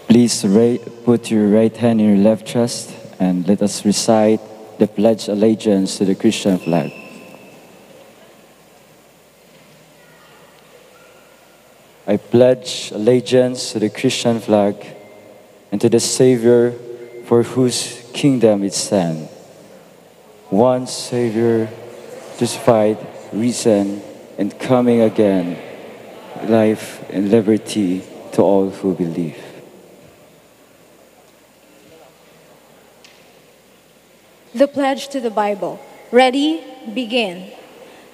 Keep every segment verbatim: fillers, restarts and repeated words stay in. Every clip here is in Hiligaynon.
Please ra-, put your right hand in your left chest and let us recite the Pledge Allegiance to the Christian flag. I pledge allegiance to the Christian flag and to the Savior for whose kingdom it stands, one Savior, crucified, risen, and coming again, life and liberty to all who believe. The Pledge to the Bible. Ready? Begin.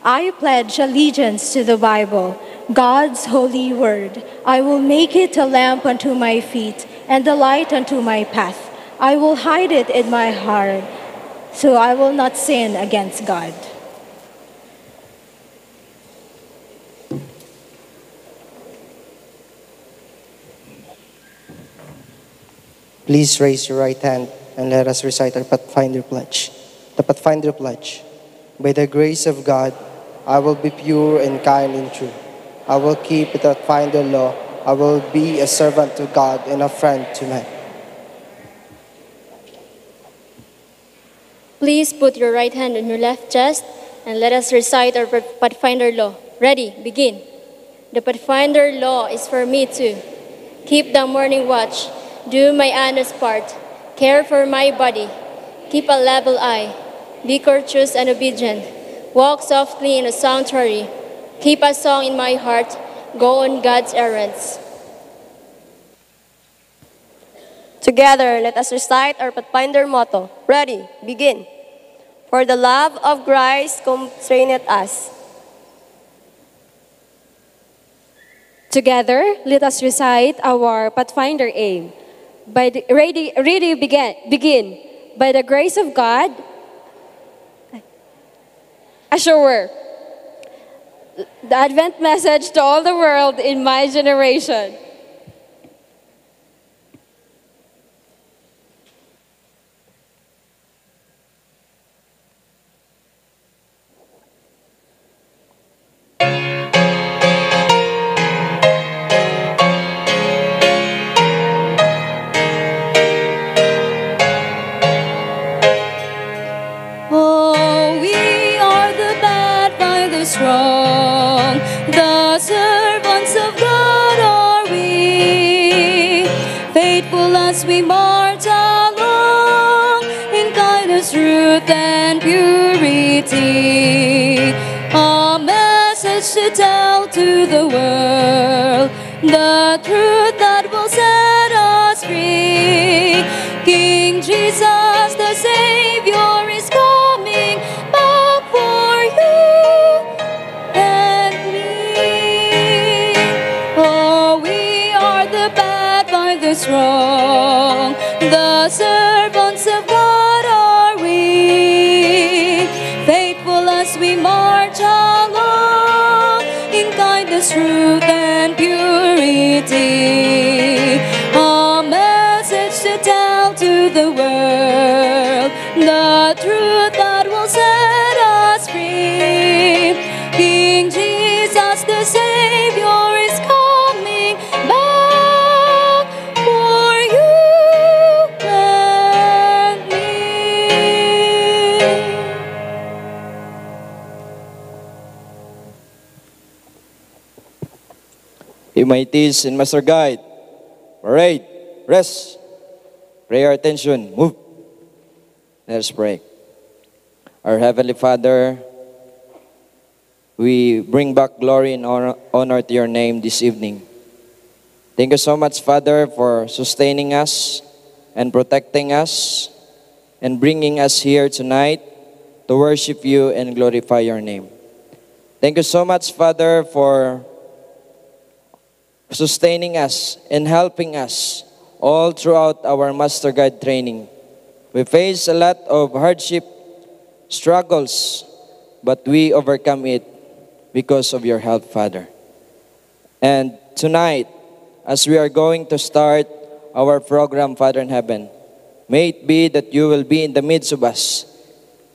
I pledge allegiance to the Bible, God's holy word. I will make it a lamp unto my feet and a light unto my path. I will hide it in my heart, so I will not sin against God. Please raise your right hand and let us recite our Pathfinder Pledge. The Pathfinder Pledge. By the grace of God, I will be pure and kind and true. I will keep the Pathfinder law. I will be a servant to God and a friend to men. Please put your right hand on your left chest and let us recite our Pathfinder law. Ready, begin. The Pathfinder law is for me too. Keep the morning watch. Do my honest part. Care for my body. Keep a level eye. Be courteous and obedient. Walk softly in the sanctuary. Keep a song in my heart. Go on God's errands. Together, let us recite our Pathfinder motto. Ready, begin. For the love of Christ constraineth us. Together, let us recite our Pathfinder aim. By the, ready, ready, begin, begin. By the grace of God, assured. The Advent message to all the world in my generation. Strong, the servants of God are we, faithful as we march along in kindness, truth, and purity. A message to tell to the world, the truth that will set us free. King Jesus, the Savior, is coming back for you and me. Oh, we are the pathfinders strong, the servants of God are we. Faithful as we march along in kindness, truth, and purity. A message to tell to the world, the truth that will set us free. King Jesus, the Savior, is coming back for you and me. Hey, my tees and Master Guide. Parade. Rest. Prayer attention. Move. Let us pray. Our Heavenly Father, we bring back glory and honor, honor to your name this evening. Thank you so much, Father, for sustaining us and protecting us and bringing us here tonight to worship you and glorify your name. Thank you so much, Father, for sustaining us and helping us all throughout our Master Guide training. We face a lot of hardship, struggles, but we overcome it because of your help, Father. And tonight, as we are going to start our program, Father in Heaven, may it be that you will be in the midst of us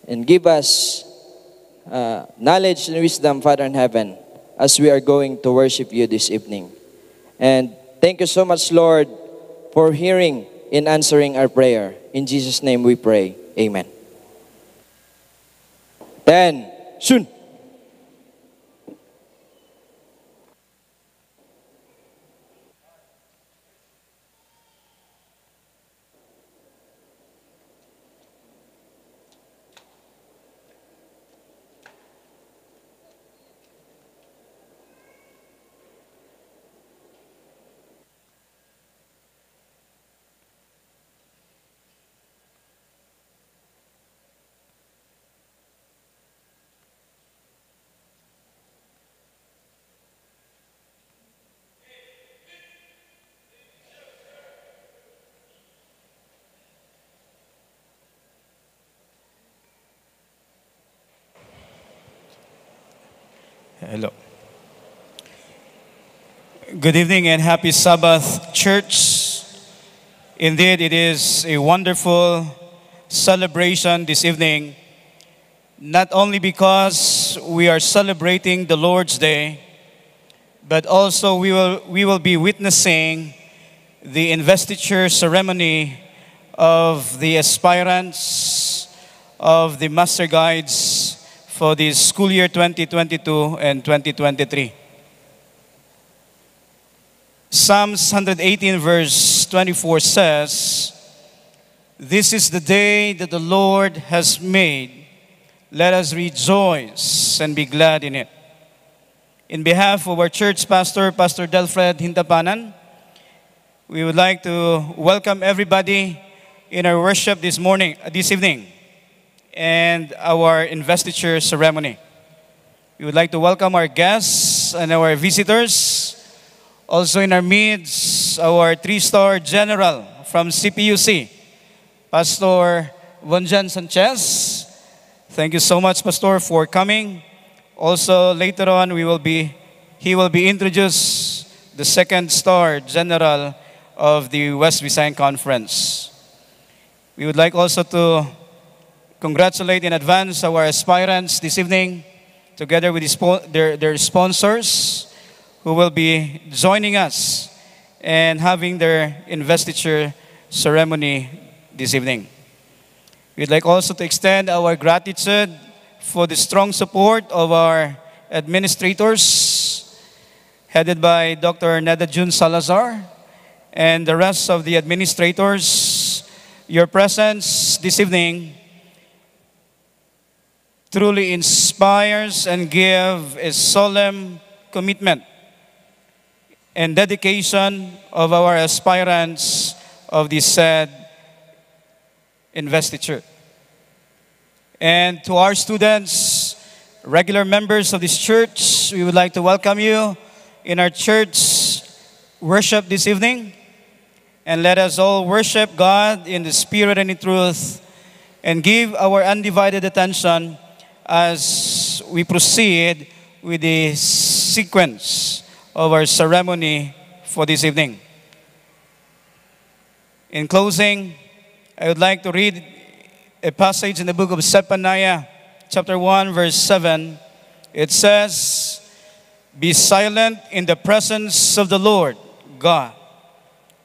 and give us uh, knowledge and wisdom, Father in Heaven, as we are going to worship you this evening. And thank you so much, Lord, for hearing and answering our prayer. In Jesus' name we pray. Amen. Ten, soon. Hello. Good evening and happy Sabbath, church. Indeed, it is a wonderful celebration this evening, not only because we are celebrating the Lord's Day, but also we will, we will be witnessing the investiture ceremony of the aspirants of the Master Guides for the school year twenty twenty-two and twenty twenty-three. Psalms one hundred eighteen verse twenty-four says, "This is the day that the Lord has made. Let us rejoice and be glad in it." In behalf of our church pastor, Pastor Delfred Hintapanan, we would like to welcome everybody in our worship this morning, uh, this evening, and our investiture ceremony. We would like to welcome our guests and our visitors. Also in our midst, our three-star general from C P U C, Pastor Vonjan Sanchez. Thank you so much, Pastor, for coming. Also, later on, we will be, he will be introduced the second star general of the West Visayan Conference. We would like also to congratulate in advance our aspirants this evening, together with the spo-, their, their sponsors, who will be joining us and having their investiture ceremony this evening. We'd like also to extend our gratitude for the strong support of our administrators, headed by Doctor Neda Jun Salazar, and the rest of the administrators. Your presence this evening truly inspires and give a solemn commitment and dedication of our aspirants of this said investiture. And to our students, regular members of this church, we would like to welcome you in our church worship this evening. And let us all worship God in the spirit and in truth, and give our undivided attention as we proceed with the sequence of our ceremony for this evening. In closing, I would like to read a passage in the book of Zephaniah, chapter one, verse seven. It says, "Be silent in the presence of the Lord God,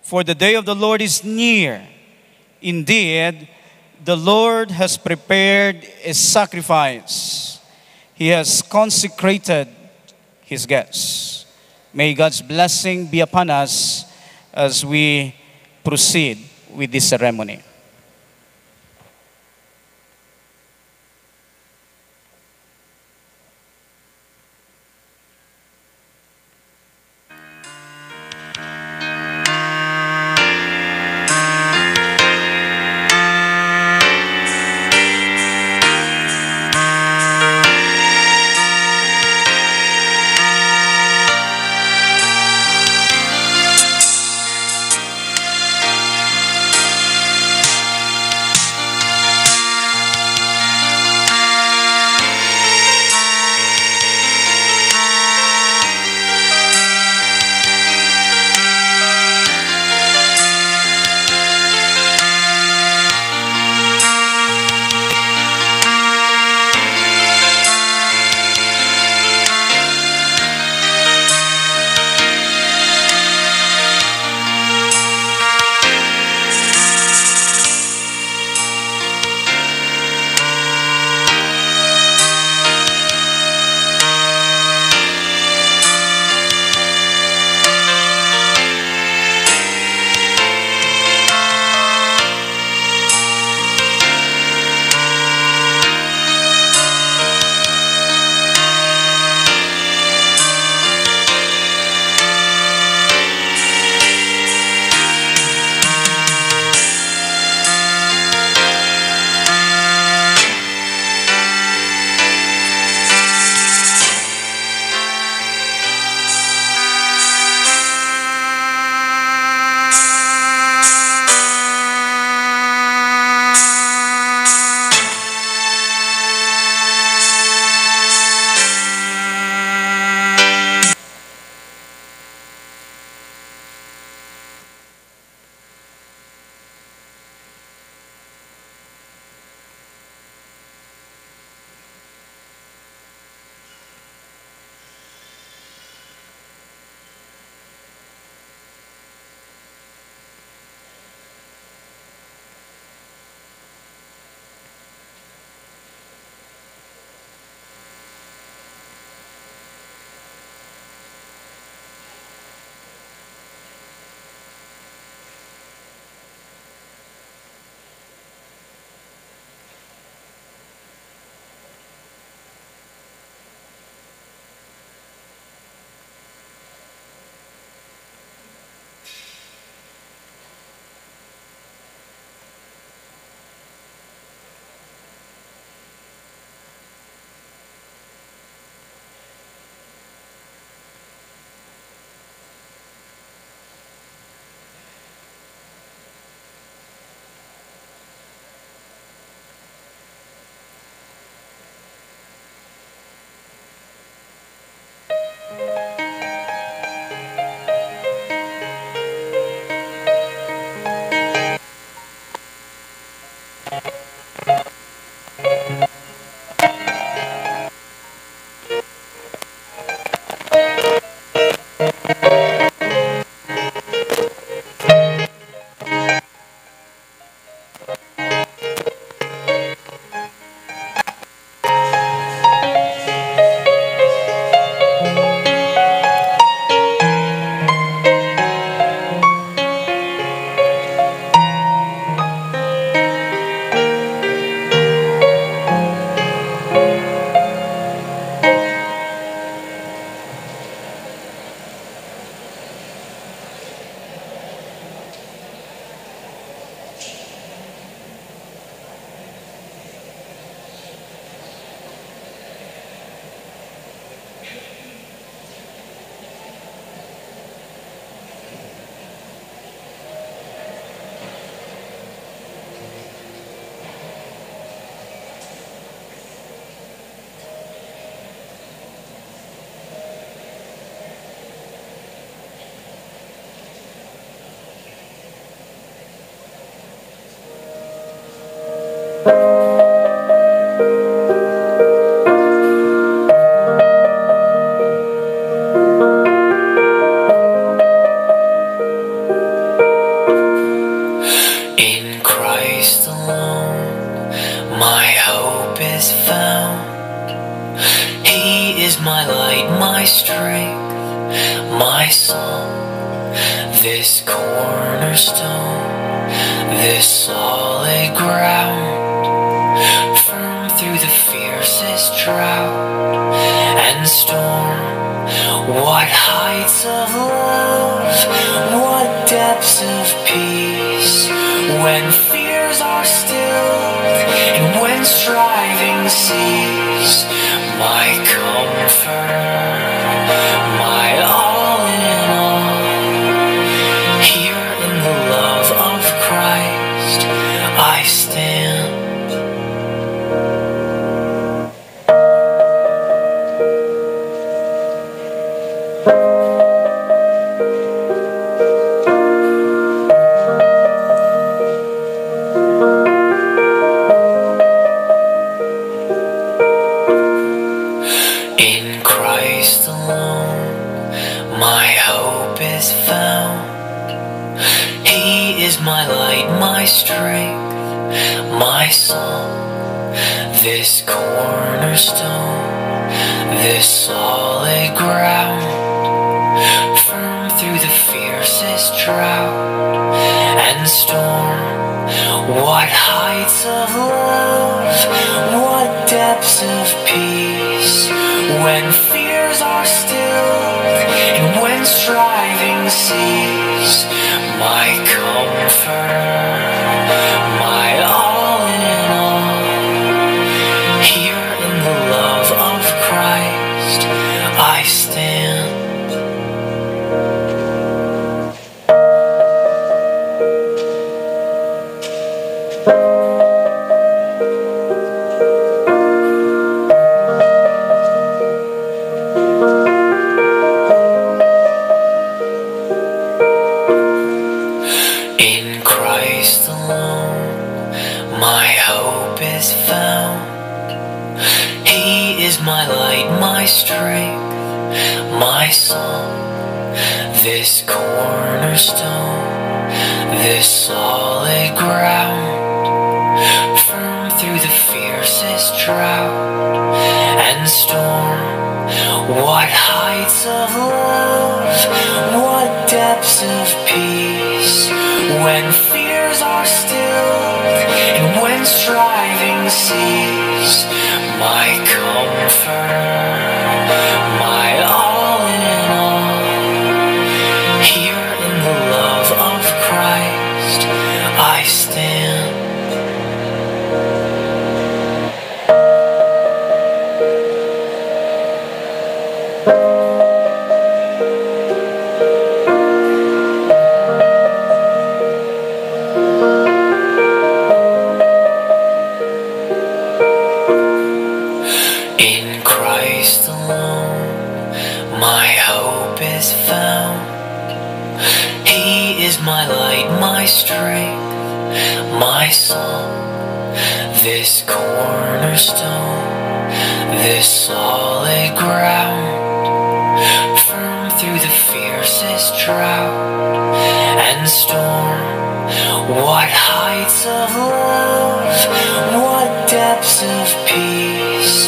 for the day of the Lord is near. Indeed, the Lord has prepared a sacrifice. He has consecrated his guests." May God's blessing be upon us as we proceed with this ceremony. He is my light, my strength, my song, this cornerstone, this solid ground, firm through the fiercest drought and storm. What heights of love, what depths of peace, when fears are stilled and when striving cease. My comforter, my all in all, here in the love of Christ I stand. In Christ alone, my hope is found. He is my light, my strength, my song, this cornerstone, this solid ground, firm through the fiercest drought and storm. What heights of love, what depths of peace, when fears are stilled and when striving cease. My comforter, my all in all, here in the love of Christ I stand. In Christ alone, my hope is found. He is my light, my strength, my song, this cornerstone, this solid ground, firm through the fiercest drought and storm. What heights of love, what depths of peace, when fears are stilled and when striving cease. My comforter, my all in all, here in the love of Christ I stand. In Christ alone, my hope is found. He is my light, my strength, my song, this cornerstone, this solid ground, firm through the fiercest drought and storm. What heights of love, what depths of peace,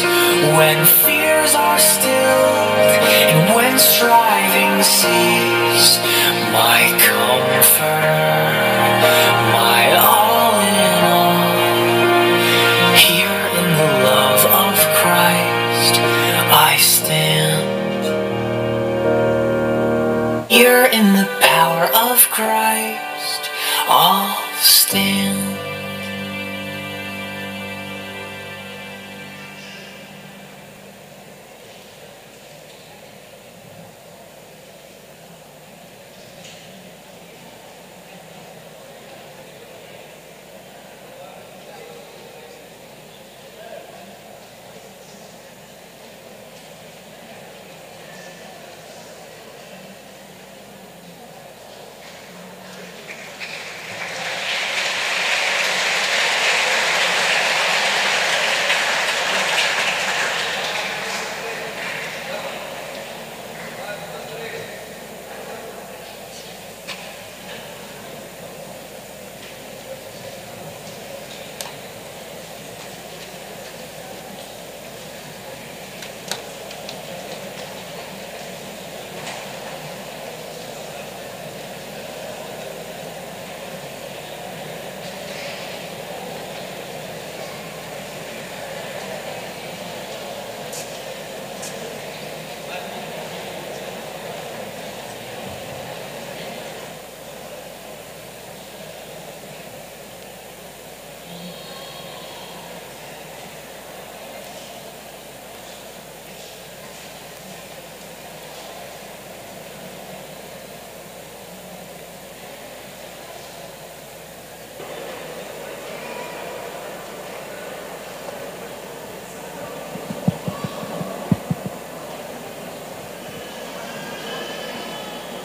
when fears are stilled and when striving cease. My comforter, my all in all, here in the love of Christ I stand. Here in the power of Christ I'll stand.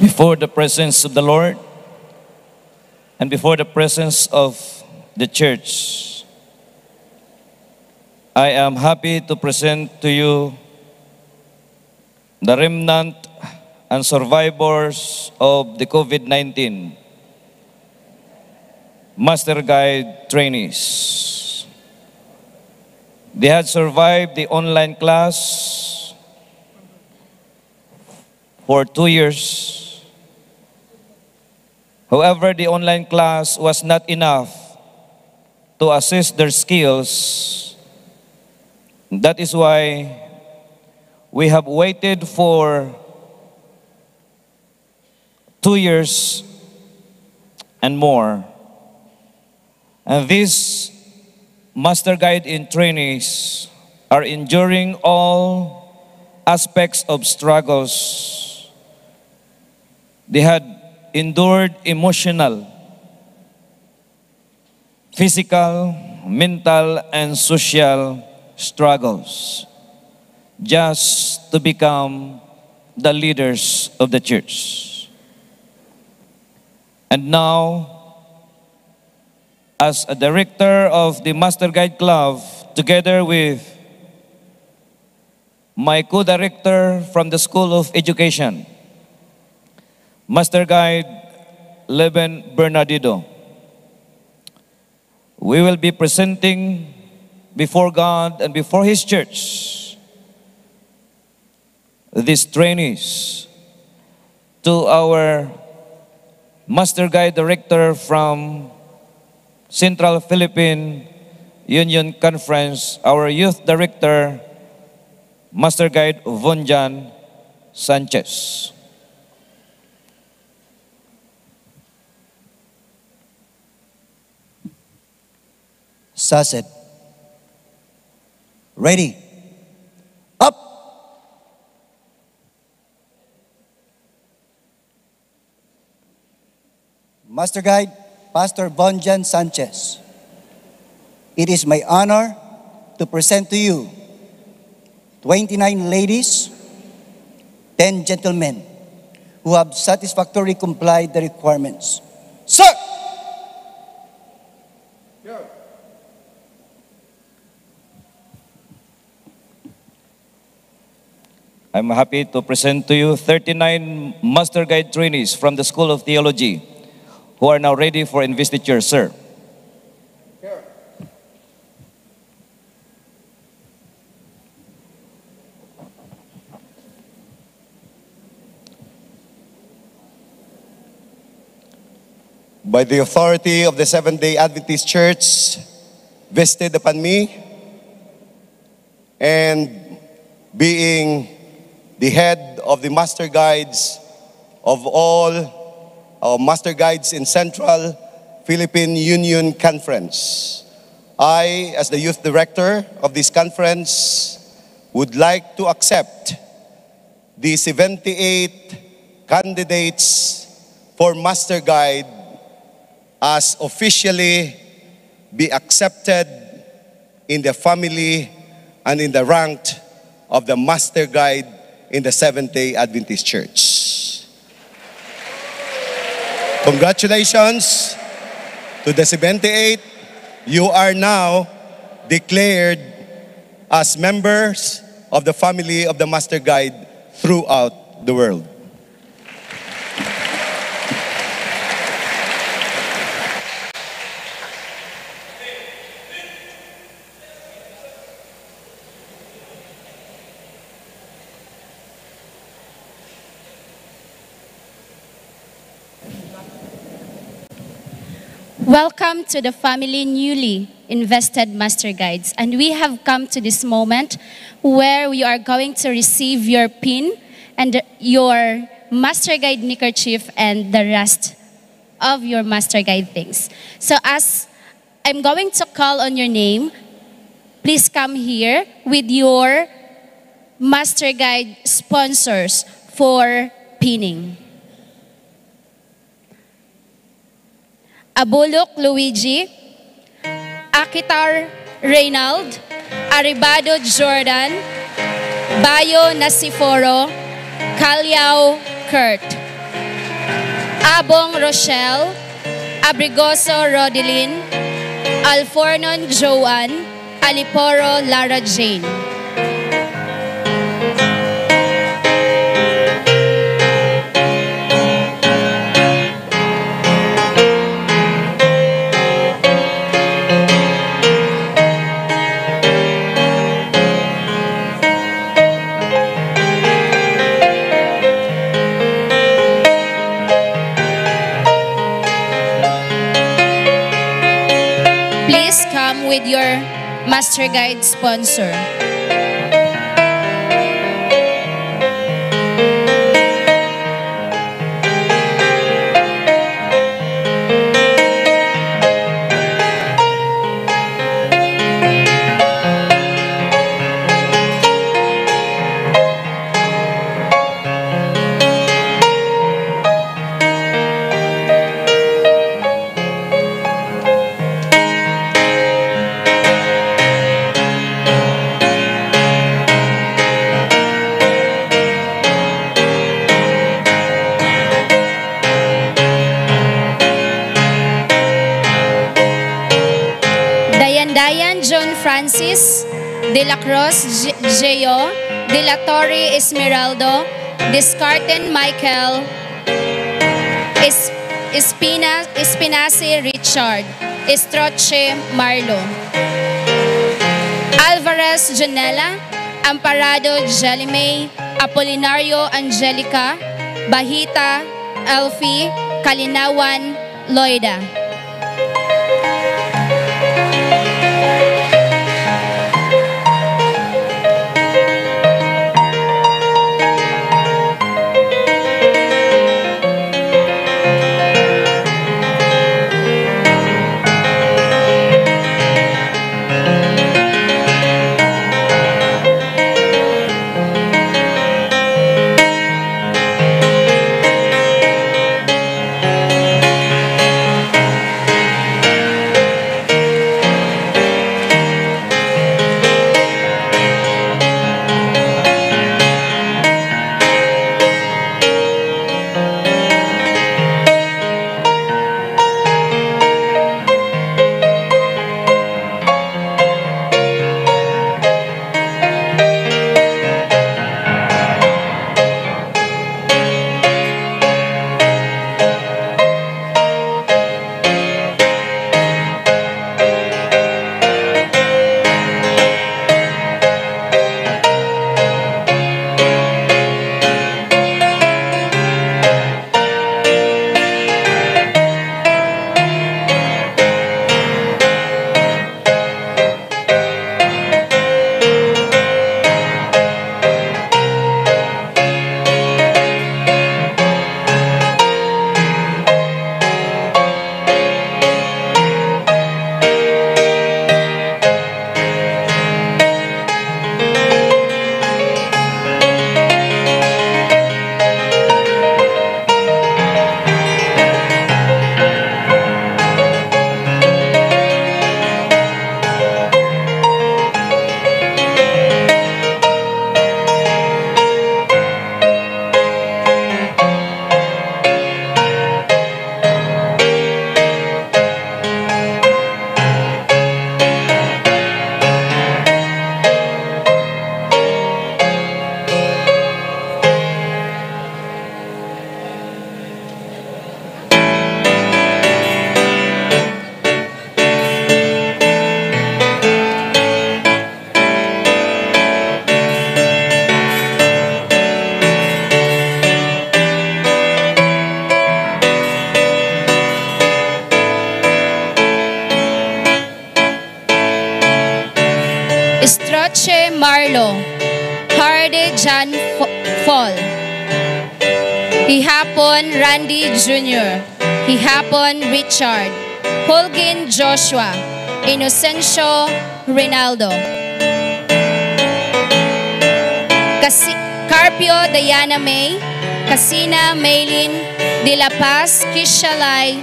Before the presence of the Lord and before the presence of the church, I am happy to present to you the remnant and survivors of the COVID nineteen Master Guide trainees. They had survived the online class for two years. However, the online class was not enough to assess their skills. That is why we have waited for two years and more. And these Master Guide in trainees are enduring all aspects of struggles. They had endured emotional, physical, mental, and social struggles just to become the leaders of the church. And now, as a director of the Master Guide Club, together with my co-director from the School of Education, Master Guide Leven Bernardino, we will be presenting before God and before His church these trainees to our Master Guide Director from Central Philippine Union Conference, our Youth Director, Master Guide Vonjan Sanchez. Saset. Ready. Up. Master Guide, Pastor Vonjan Sanchez, it is my honor to present to you twenty-nine ladies, ten gentlemen who have satisfactorily complied the requirements. Sir! I'm happy to present to you thirty-nine Master Guide trainees from the School of Theology who are now ready for investiture, sir. By the authority of the Seventh-day Adventist Church vested upon me, and being the head of the master guides of all, uh, master guides in Central Philippine Union Conference, I, as the youth director of this conference, would like to accept the seventy-eight candidates for master guide as officially be accepted in the family and in the rank of the master guide in the Seventh-day Adventist Church. Congratulations to the seventy-eight. You are now declared as members of the family of the master guide throughout the world. Welcome to the family newly invested Master Guides. And we have come to this moment where we are going to receive your pin and your Master Guide neckerchief and the rest of your Master Guide things. So as I'm going to call on your name, please come here with your Master Guide sponsors for pinning. Abulok Luigi, Akitar Reynald, Aribado Jordan, Bayo Nasiforo, Callao Kurt. Abong Rochelle, Abrigoso Rodelin, Alfornon Joan, Aliporo Lara Jane. Please come with your Master Guide sponsor. Dayandayan John Francis, De La Cruz J-, Geo, De La Torre Esmeraldo, Discarten Michael, Es-, Espina-, Espinace Richard, Estroche Marlo, Alvarez Janela, Amparado Jelly May, Apolinario Angelica, Bahita, Elfie, Kalinawan, Loida. Stroche Marlo, Hardy John F-, Fall, Hihapon Randy Junior, Hihapon Richard, Holguin Joshua, Inocencio Rinaldo, Kasi-, Carpio Diana May, Casina Maylin, De La Paz Kishalay,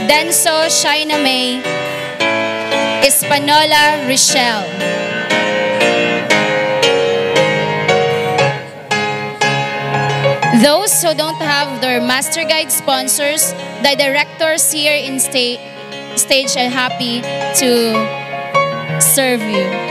Denso Shaina May, Espanola Richelle. Those who don't have their master guide sponsors, the directors here in sta-, stage are happy to serve you.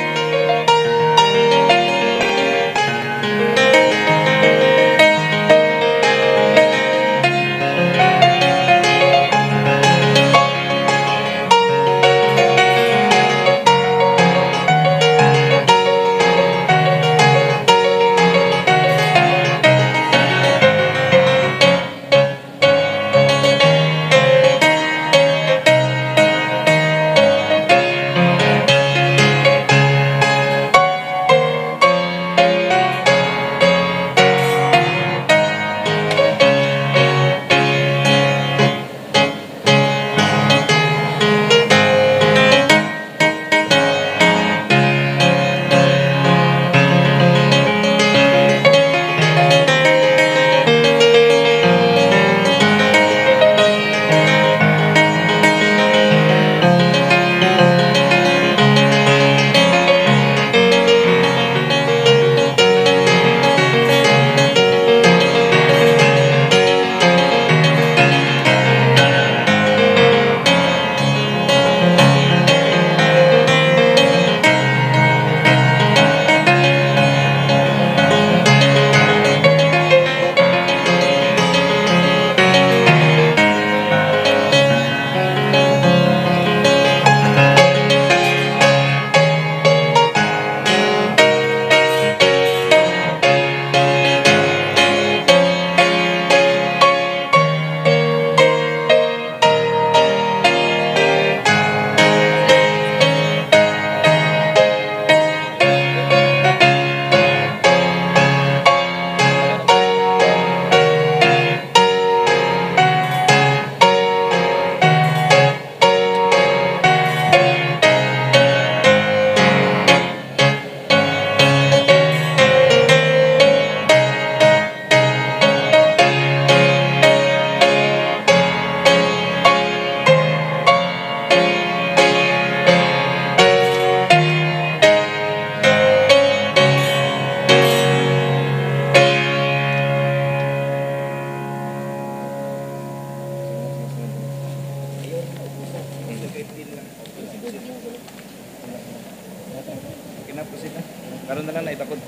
Okay na po sila. Karon na lang na itakod.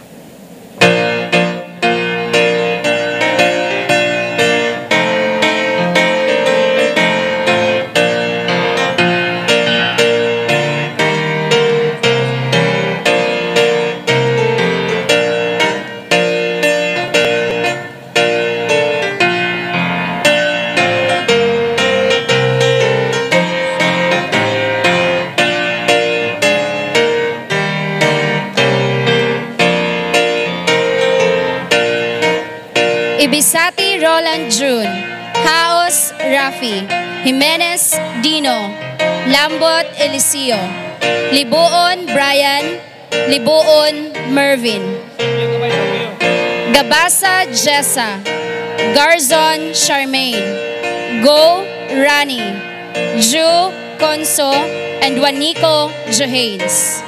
Ibisati Roland Jun, Haos Rafi, Jimenez Dino, Lambot Eliseo, Libuon Brian, Libuon Mervin, Gabasa Jessa, Garzon Charmaine, Go Rani, Ju Conso, and Juanico Johanes.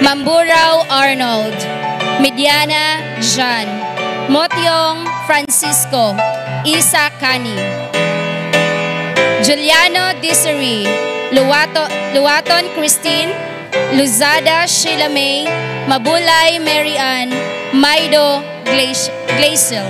Amburao Arnold, Mediana Jan, Motiong Francisco, Isa Cani, Juliano Desiree, Luwato-, Luwaton Christine, Luzada Sheila May, Mabulay Mary Ann, Maido Gleish-, Gleisel.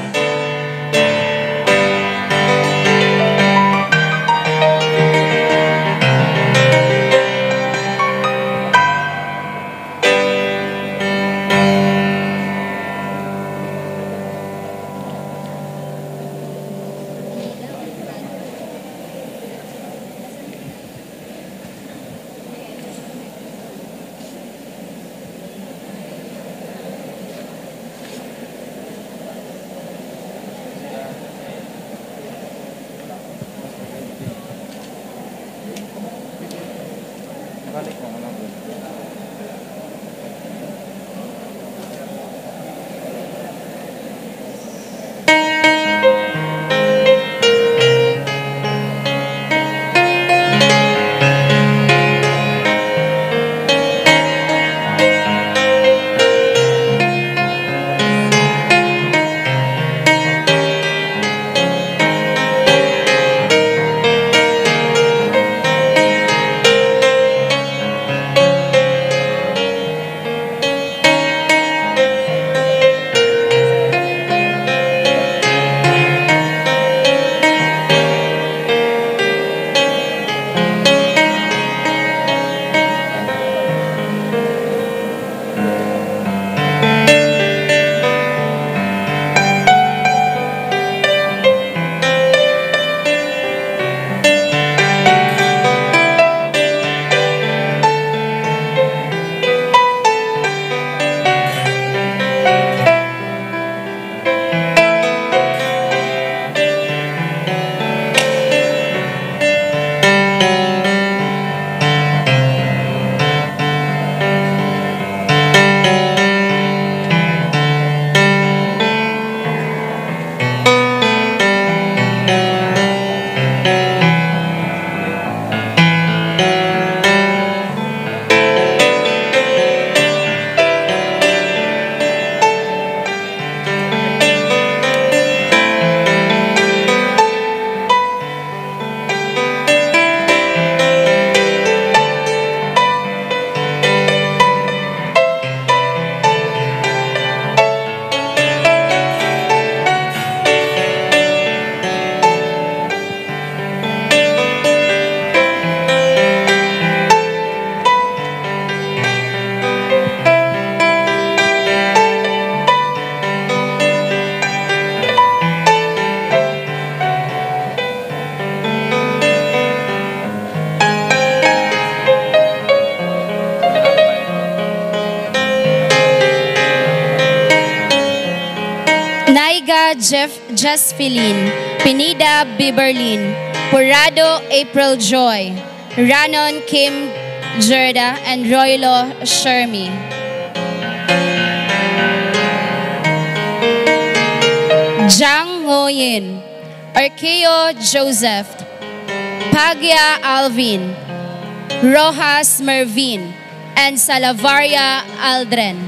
Naiga Jeff Jasfelin, Pinida Biberlin, Purado April Joy, Ranon Kim Jerda, and Roylo Shermy. Jang Ngoyin, Arqueo Joseph, Pagya Alvin, Rojas Mervin, and Salavaria Aldrin.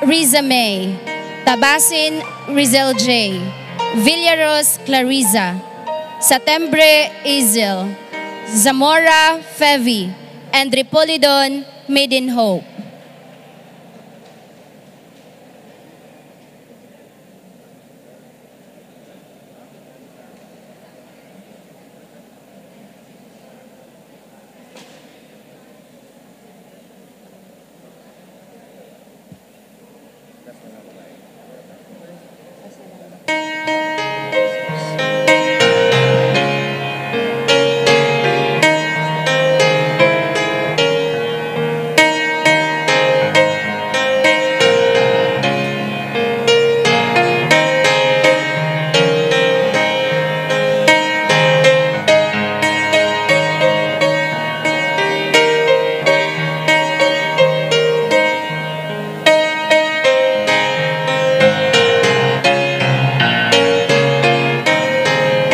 Riza May, Tabasin Rizel J, Villaros Clariza, Satembre Izel, Zamora Fevi, and Ripolidon Maiden Hope.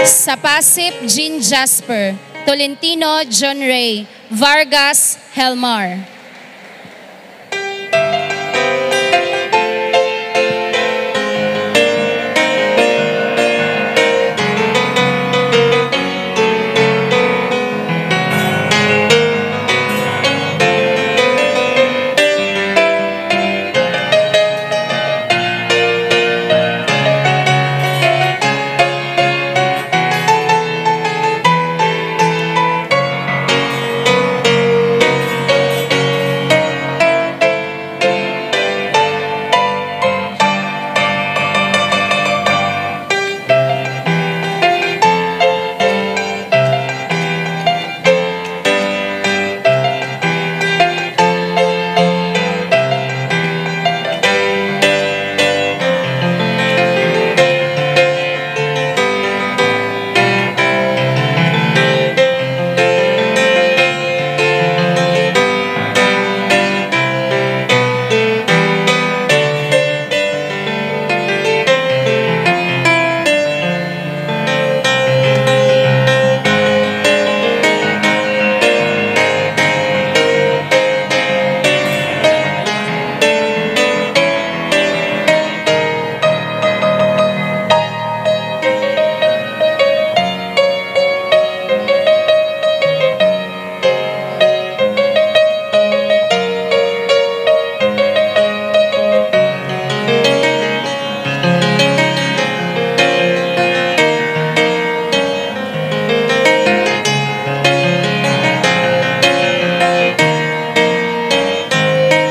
Sapasip Jean Jasper, Tolentino John Ray, Vargas Helmar.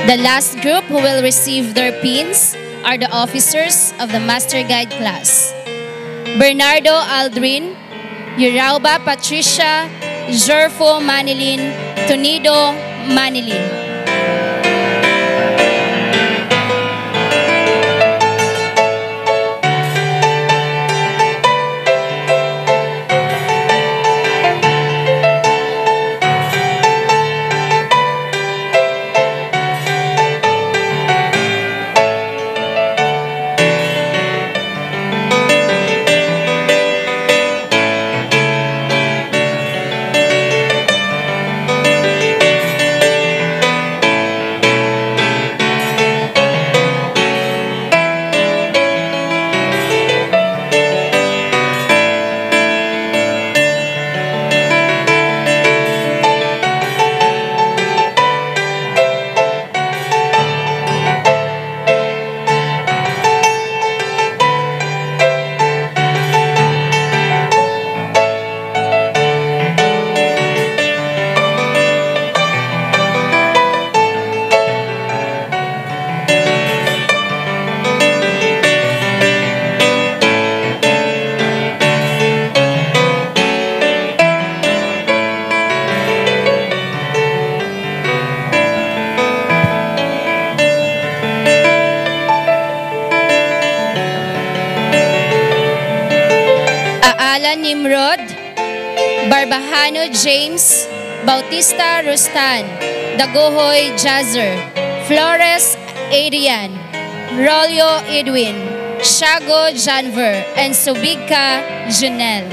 The last group who will receive their pins are the officers of the Master Guide class. Bernardo Aldrin, Yurauba Patricia, Jorfo Manilin, Tunido Manilin. Aala Nimrod, Barbahano James, Bautista Rustan, Dagohoy Jazer, Flores Adrian, Rolio Edwin, Shago Janver, and Subigka Junel.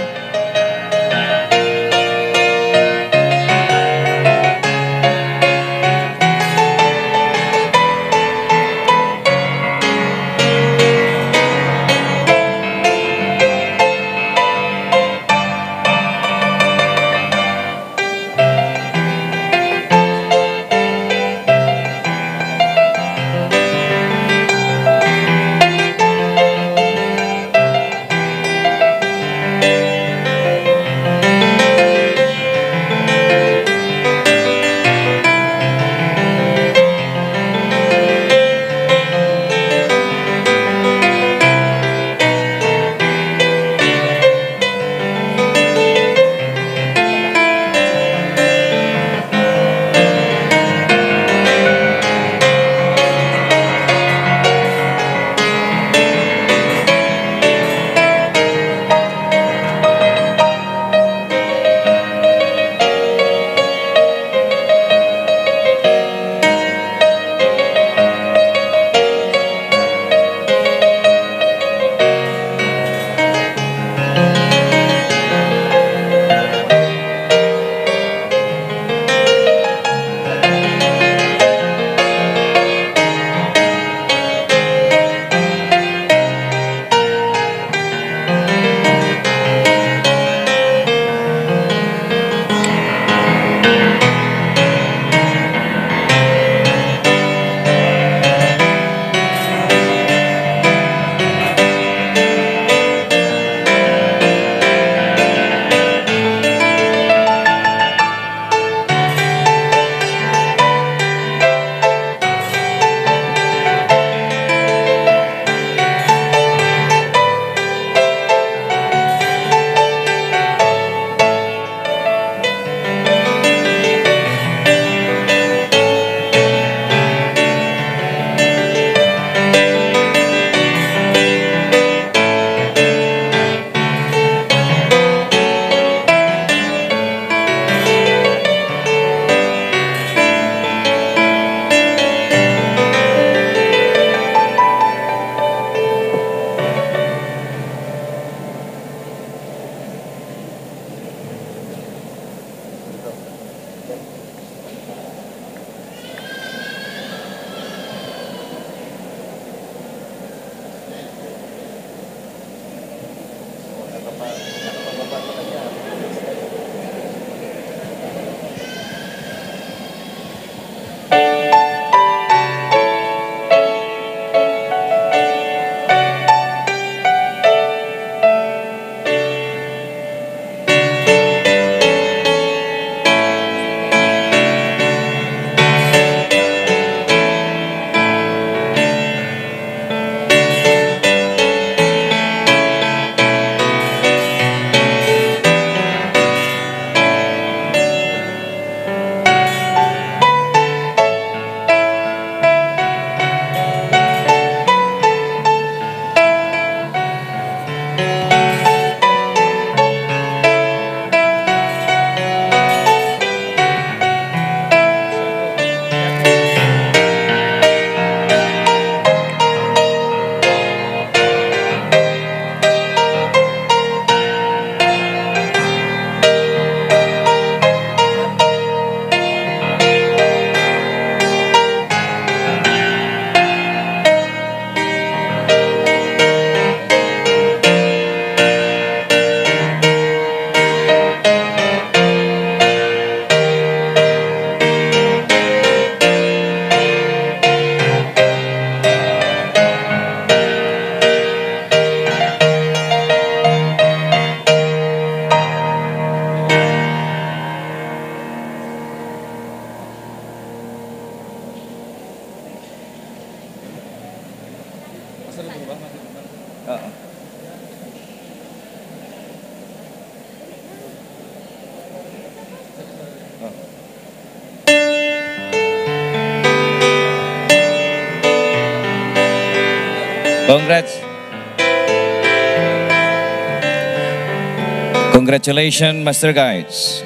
Congrats. Congratulations, Master Guides.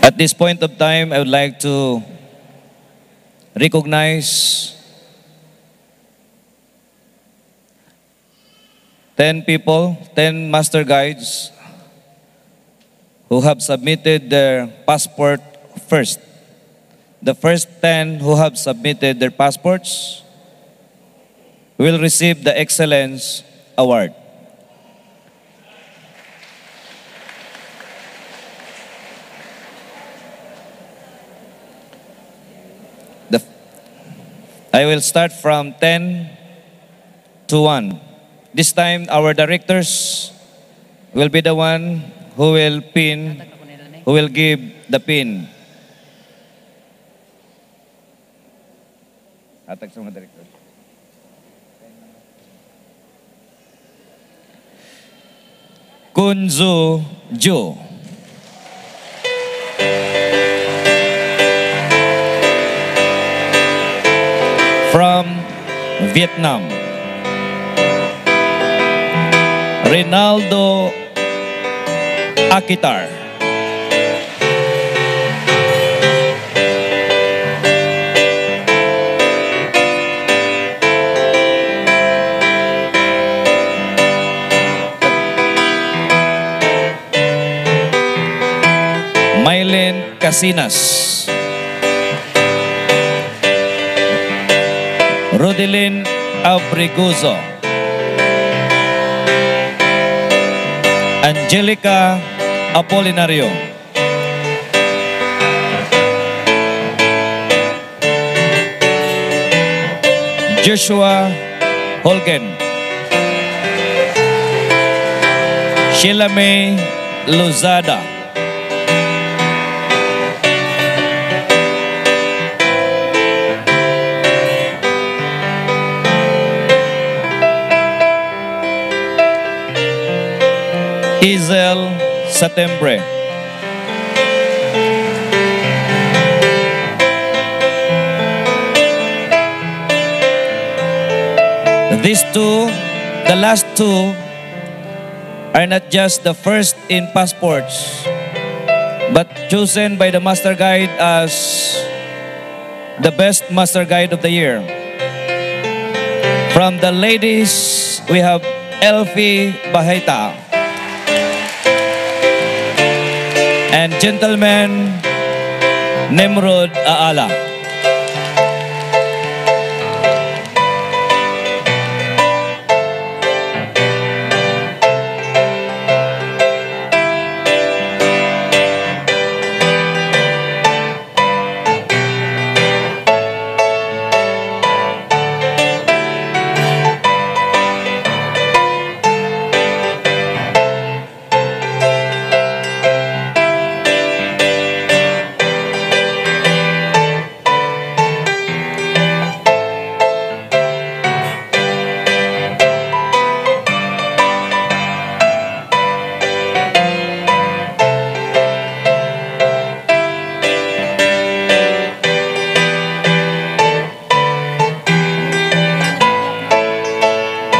At this point of time, I would like to recognize ten people, ten master guides who have submitted their passport first. The first ten who have submitted their passports will receive the Excellence Award. The, I will start from ten to one. This time, our directors will be the one who will pin, who will give the pin. Hatag sa mga directors. Kunzu Ju. From Vietnam. Rinaldo Akitar. Mylene Casinas. Rodelin Abriguzo. Angelica Apolinario. Joshua Holgen. Sheila May Lozada. Izel Satembre. These two, the last two, are not just the first in passports, but chosen by the master guide as the best master guide of the year. From the ladies, we have Elfie Bahita and gentleman Nimrod Aala.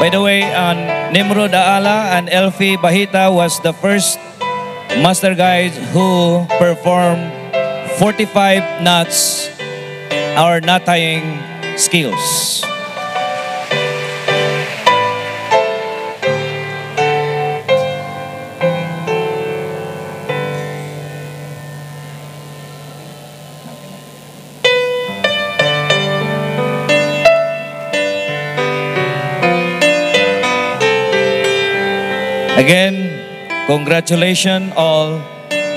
By the way, uh, Nimrod Aala and Elfie Bahita was the first master guides who performed forty-five knots or knot tying skills. Again, congratulations all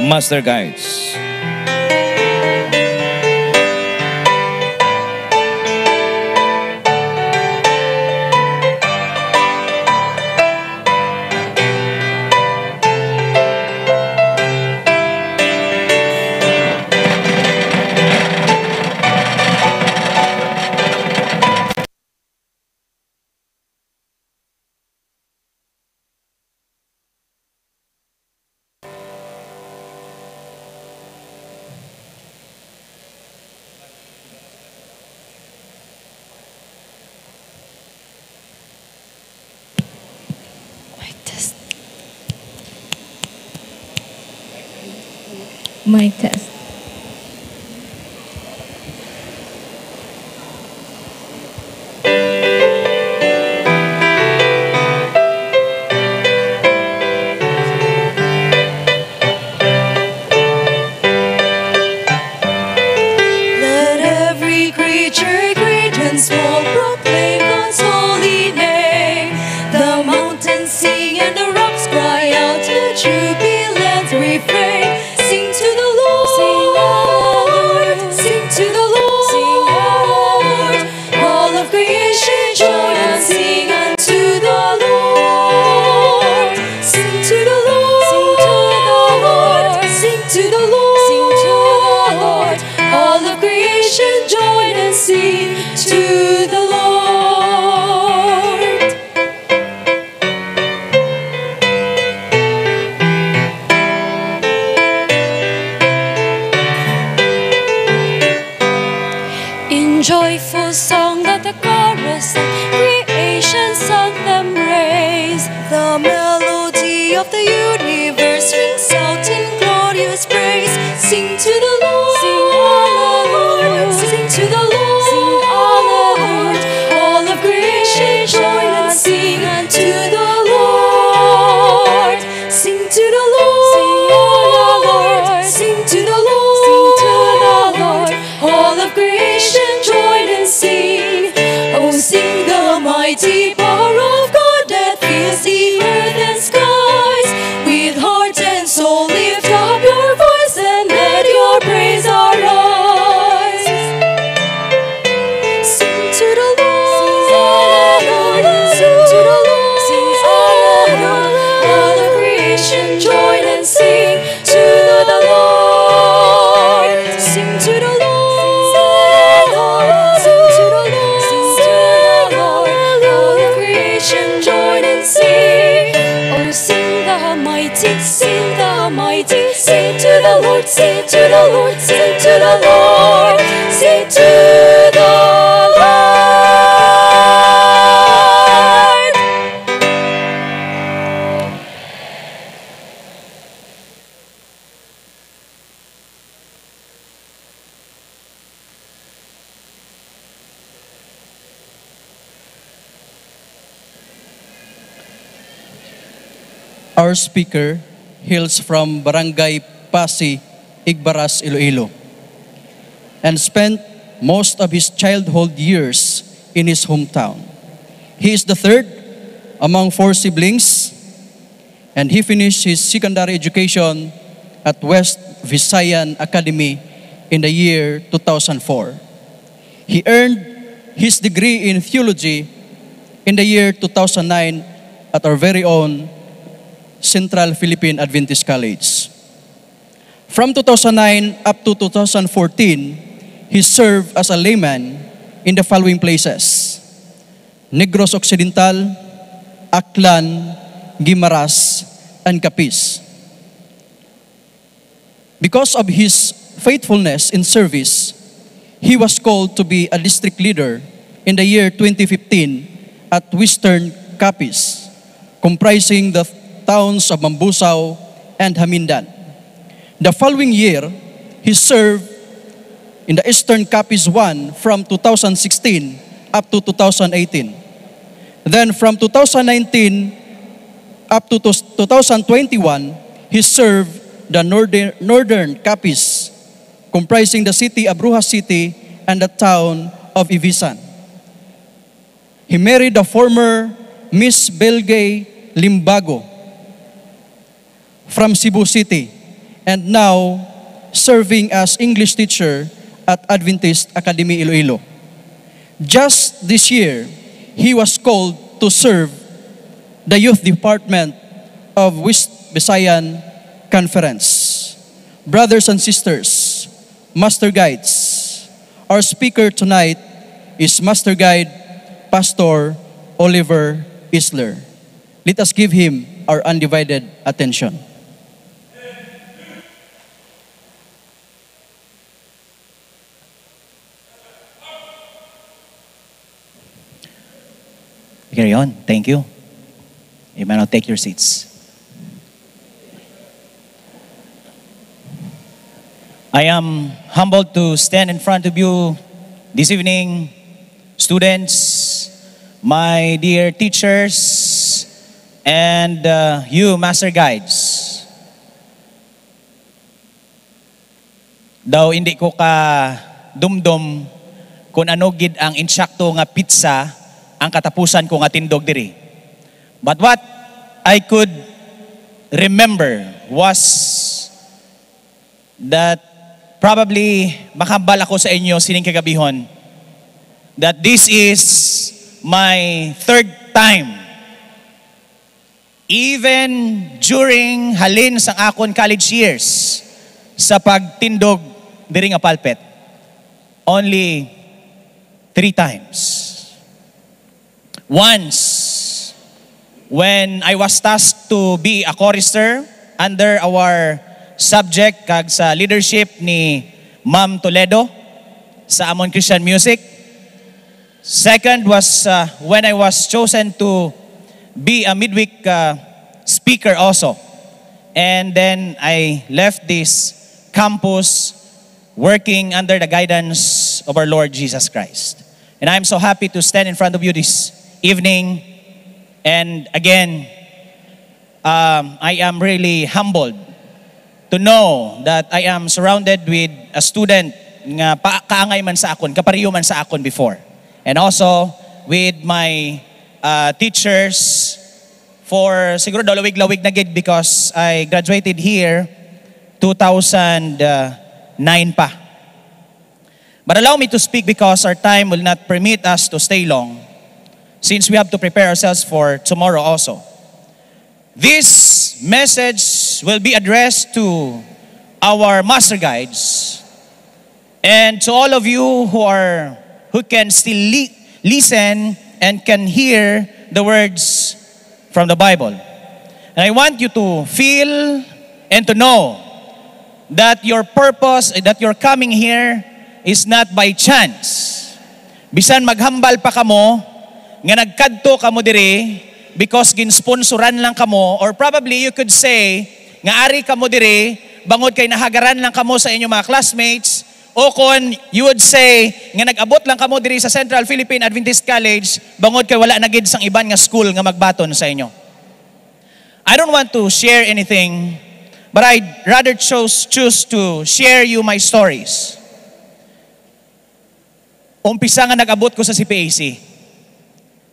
master guides. Mic test. Let every creature, great and small, proclaim God's holy name. The mountains sing and the rocks cry out a jubilant refrain. Sing to the Lord, sing to the Lord, sing to the Lord. All of creation join and sing unto the Lord. Sing to the Lord, sing to the Lord, sing to the Lord. All of creation join and sing to the Lord. In joyful song let the chorus of creation's anthem raise. The melody of the universe rings out in glorious praise. Sing to the Lord, sing to the Lord, sing to the Lord. All of creation join and sing unto the Lord. Sing to the Lord, sing to the Lord, sing to the Lord. All of creation join and sing. Oh, sing the mighty power of God that fills the earth and skies. With heart and soul lift up your voice and let your praise arise. Sing to the Lord, sing to the Lord, sing to the Lord. All of creation join and sing to the Lord. Sing to the Lord, sing to the Lord, sing to the Lord. All of creation join and sing. Oh, sing the mighty, sing the mighty, sing to the Lord, sing to the Lord, sing to the Lord, sing to the Lord. Our speaker hails from Barangay Pasi, Igbaras, Iloilo, and spent most of his childhood years in his hometown. He is the third among four siblings, and he finished his secondary education at West Visayan Academy in the year two thousand four. He earned his degree in theology in the year two thousand nine at our very own Central Philippine Adventist College. From two thousand nine up to two thousand fourteen, he served as a layman in the following places: Negros Occidental, Aklan, Guimaras, and Capiz. Because of his faithfulness in service, he was called to be a district leader in the year twenty fifteen at Western Capiz, comprising the towns of Mambusao and Jamindan. The following year, he served in the Eastern Capiz one from two thousand sixteen up to two thousand eighteen. Then from two thousand nineteen up to two thousand twenty-one, he served the Northern, Northern Capiz, comprising the city of Roxas City and the town of Ivisan. He married the former Miss Belgay Limbago from Cebu City and now serving as English teacher at Adventist Academy Iloilo. Just this year, he was called to serve the youth department of West Visayan Conference. Brothers and sisters, master guides, our speaker tonight is Master Guide Pastor Oliver Isler. Let us give him our undivided attention. Carry on. Thank you. You may now take your seats. I am humbled to stand in front of you this evening, students, my dear teachers, and uh, you, master guides. Daw hindi ko ka dumdom kung ano gid ang insakto nga pitsa ang katapusan ko nga tindog diri. But what I could remember was that probably makahambal ako sa inyo sining kagabihon that this is my third time, even during halin sang akon college years, sa pagtindog diri nga pulpit. Only three times. Once, when I was tasked to be a chorister under our subject kag sa leadership ni Ma'am Toledo sa amon Christian music. Second was uh, when I was chosen to be a midweek uh, speaker also. And then I left this campus working under the guidance of our Lord Jesus Christ. And I'm so happy to stand in front of you this evening. And again, um, I am really humbled to know that I am surrounded with a student nga pa kaangay man sa akon, kapareho man sa akon before. And also with my uh, teachers for siguro daw lawig-lawig na gid because I graduated here two thousand nine pa. But allow me to speak because our time will not permit us to stay long, since we have to prepare ourselves for tomorrow also. This message will be addressed to our master guides and to all of you who are who can still li- listen and can hear the words from the Bible. And I want you to feel and to know that your purpose, that your coming here is not by chance. Bisan maghambal pa kamo nga nagkadto kamo diri because ginsponsoran lang kamo, or probably you could say nga ari kamo diri bangod kay nahagaran lang kamo sa inyong mga classmates, o kon you would say nga nag-abot lang kamo diri sa Central Philippine Adventist College bangod kay wala na gid sang iban nga school nga magbaton sa inyo. I don't want to share anything, but I'd rather choose, choose to share you my stories. Umpisa nga nag-abot ko sa C P A C,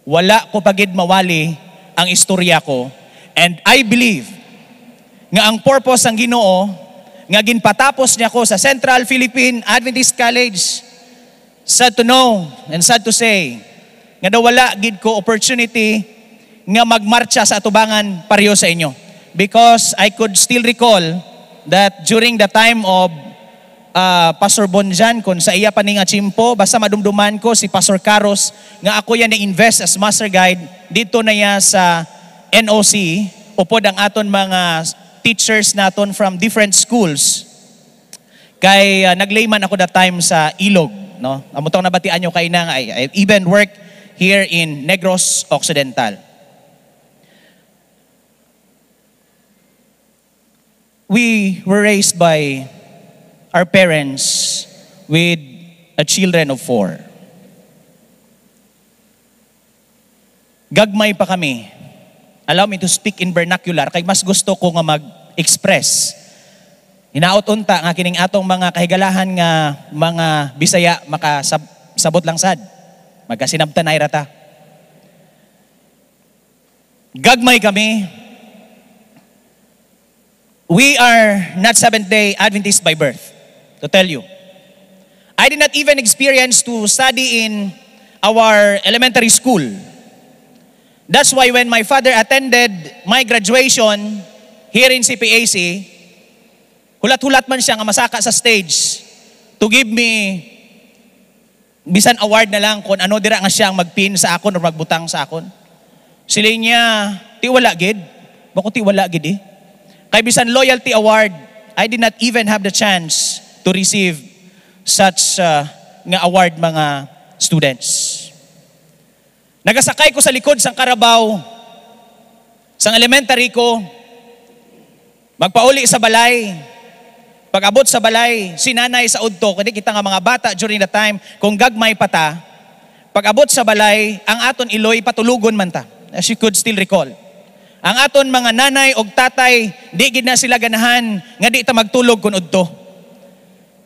wala ko pa gid mawali ang istorya ko, and I believe nga ang purpose sang Ginoo nga ginpatapos niya ko sa Central Philippine Adventist College, sad to know and sad to say nga daw wala gid ko opportunity nga magmartsa sa atubangan pareho sa inyo, because I could still recall that during the time of uh, Pastor Bonjan, kung sa iya pa ni nga tiyempo, basta madumduman ko si Pastor Carlos nga ako yan na-invest as master guide dito na iya sa N O C, upod ang aton mga teachers naton from different schools. Kay uh, nag-layman ako that time sa Ilog, no? Amo tong nabatian nyo kay na nga, I, I even work here in Negros Occidental. We were raised by our parents with a children of four. Gagmay pa kami. Allow me to speak in vernacular, kay mas gusto ko nga mag-express. Hinaot unta nga kining atong mga kahigalahan nga mga Bisaya makasab-, sabot lang sad. Magkasinabtanay ra ta. Gagmay kami. We are not Seventh-day Adventist by birth, to tell you. I did not even experience to study in our elementary school. That's why when my father attended my graduation here in C P A C, hulat-hulat man siya nga masaka sa stage to give me bisan award na lang kung ano dira nga siya ang magpin sa akon or magbutang sa akon. Siling niya, "Ti wala gid." Bako, "Ti wala gid eh." Kay bisan loyalty award, I did not even have the chance to receive such uh, nga award, mga students. Nagasakay ko sa likod sang karabaw sang elementary ko, magpauli sa balay. Pag-abot sa balay, si nanay sa udto, kani kita nga mga bata during the time, kung gagmay pa ta, pag-abot sa balay, ang aton iloy patulogon man ta, as you could still recall. Ang aton mga nanay og tatay, di gid na sila ganahan nga di ta magtulog kun udto.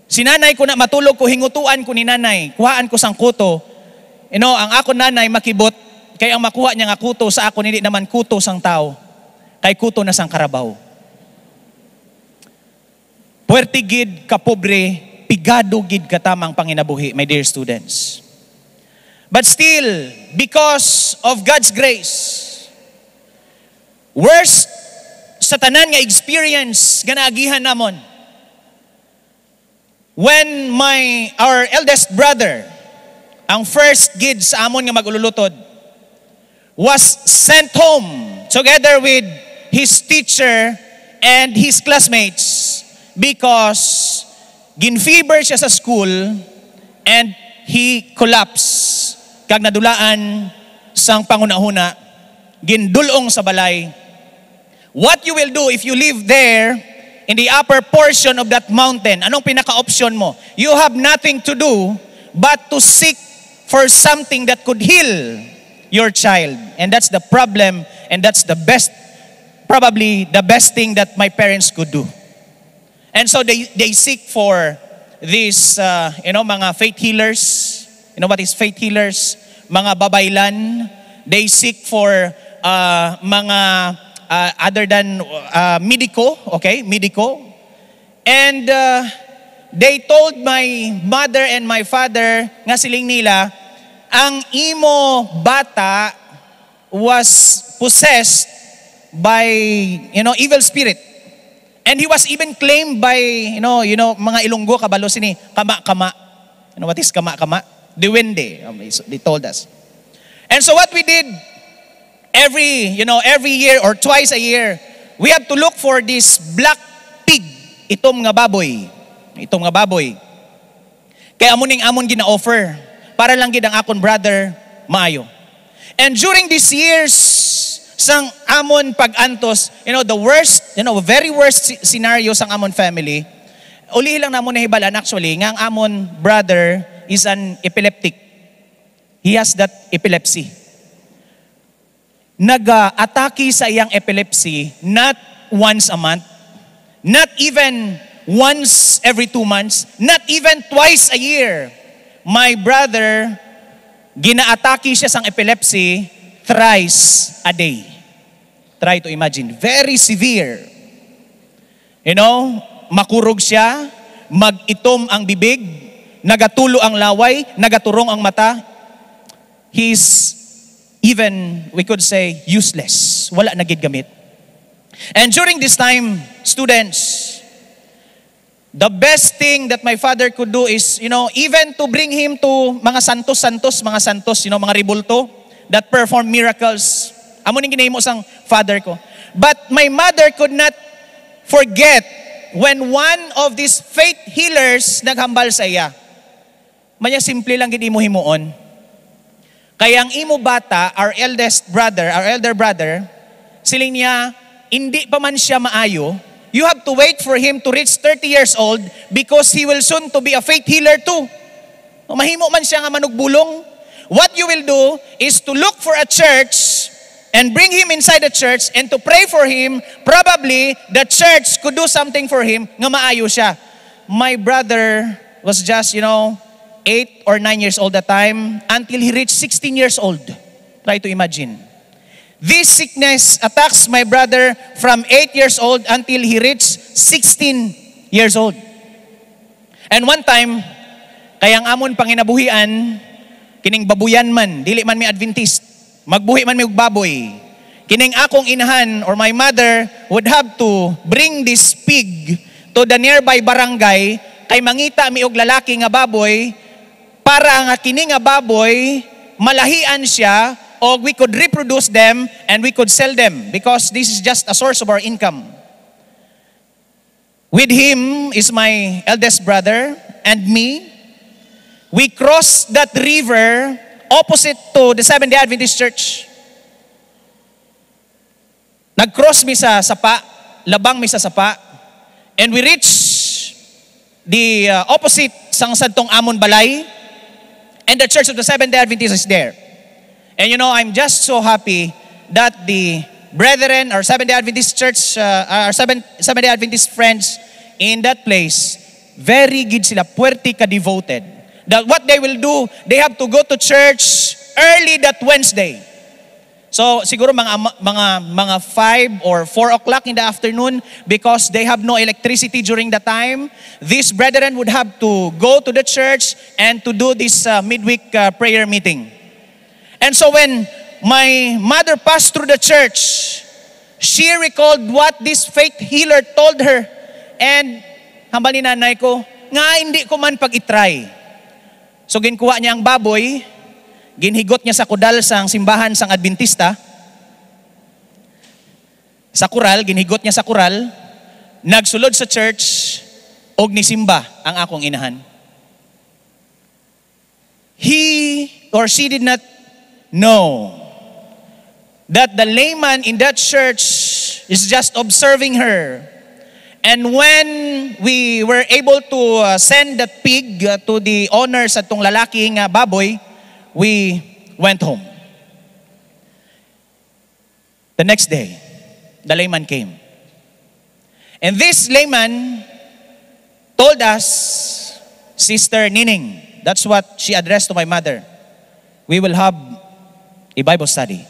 Si nanay, ko na matulog ko, hingutuan ko ni nanay, kuhaan ko sang kuto. You know, ang akon nanay makibot, kay ang makuha niya nga kuto sa akon, hindi naman kuto sang tao, kay kuto na sang karabaw. Puwerte gid ka pobre, pigado gid ka tamang panginabuhi, my dear students. But still, because of God's grace, worst sa tanan nga experience nga naagihan namon, when my, our eldest brother, ang first gid sa amon nga mag-ululutod, was sent home together with his teacher and his classmates because ginfever siya sa school and he collapsed kag nadulaan sang panghunahuna, gindul-ong sa balay. What you will do if you live there in the upper portion of that mountain? Anong pinaka-option mo? You have nothing to do but to seek for something that could heal your child. And that's the problem, and that's the best, probably the best thing that my parents could do. And so they, they seek for these, uh, you know, mga faith healers. You know what is faith healers? Mga babaylan. They seek for, uh, mga, uh, other than, uh, medico, okay? Medico. And, uh, they told my mother and my father nga siling nila, "Ang imo bata was possessed by, you know, evil spirit." And he was even claimed by, you know, you know, mga Ilonggo, kabalo sini, kama-kama. You know what is kama-kama? Duwende, um, is- they told us. And so what we did, every, you know, every year or twice a year, we have to look for this black pig, itom nga baboy. Itom nga baboy. Kay amo ning amon gina-offer para lang gid ang akon brother maayo. And during these years, sang amon pag-antos, you know, the worst, you know, very worst sce-, scenario sang amon family, uli lang namon nahibalaan actually nga ang amon brother is an epileptic. He has that epilepsy. Nag-atake sa iyang epilepsy not once a month, not even once every two months, not even twice a year. My brother, ginaatake siya sang epilepsy thrice a day. Try to imagine. Very severe. You know, makurog siya, mag-itom ang bibig, nagatulo ang laway, nagaturong ang mata. He is even, we could say, useless. Wala na gid gamit. And during this time, students, the best thing that my father could do is, you know, even to bring him to mga santos-santos, mga santos, you know, mga rebulto that perform miracles. Amo ning ginahimo sang father ko. But my mother could not forget when one of these faith healers naghambal sa iya. Manya simple lang gid imo himuon. Kay ang imo bata, our eldest brother, our elder brother, siling niya, hindi pa man siya maayo, you have to wait for him to reach thirty years old because he will soon to be a faith healer too. Mahimo man siya nga manugbulong. What you will do is to look for a church and bring him inside the church and to pray for him. Probably, the church could do something for him nga maayo siya. My brother was just, you know, eight or nine years old that time until he reached sixteen years old. Try to imagine. This sickness attacks my brother from eight years old until he reached sixteen years old. And one time, kay ang amon panginabuhian, kining babuyan man, dili man mi Adventist, magbuhi man mi og baboy. Kining akong inahan or my mother would have to bring this pig to the nearby barangay kay mangita mi og lalaki nga baboy para nga kini nga baboy malahian siya, o we could reproduce them and we could sell them because this is just a source of our income. With him is my eldest brother and me. We crossed that river opposite to the Seventh-day Adventist Church. Nag-cross mi sa sapa, labang mi sa sapa, and we reach the uh, opposite sang sadtong amon balay, and the Church of the Seventh-day Adventist is there. And you know, I'm just so happy that the brethren or Seventh-day Adventist Church, uh, or Seventh, Seventh-day Adventist friends in that place, very gid sila, puwerte ka devoted. That what they will do, they have to go to church early that Wednesday. So siguro mga mga mga five or four o'clock in the afternoon, because they have no electricity during the time. These brethren would have to go to the church and to do this uh, midweek uh, prayer meeting. And so when my mother passed through the church, she recalled what this faith healer told her. And hambal ni nanay ko, nga hindi ko man pag-itry. So ginkuha niya ang baboy, ginhigot niya sa kudal sang simbahan sang Adventista, sa kural, ginhigot niya sa kural, nagsulod sa church, og nisimba ang akong inahan. He or she did not know that the layman in that church is just observing her. And when we were able to uh, send that pig uh, to the owner sa tong lalaki nga baboy, we went home. The next day, the layman came. And this layman told us, "Sister Nining," that's what she addressed to my mother, "we will have a Bible study."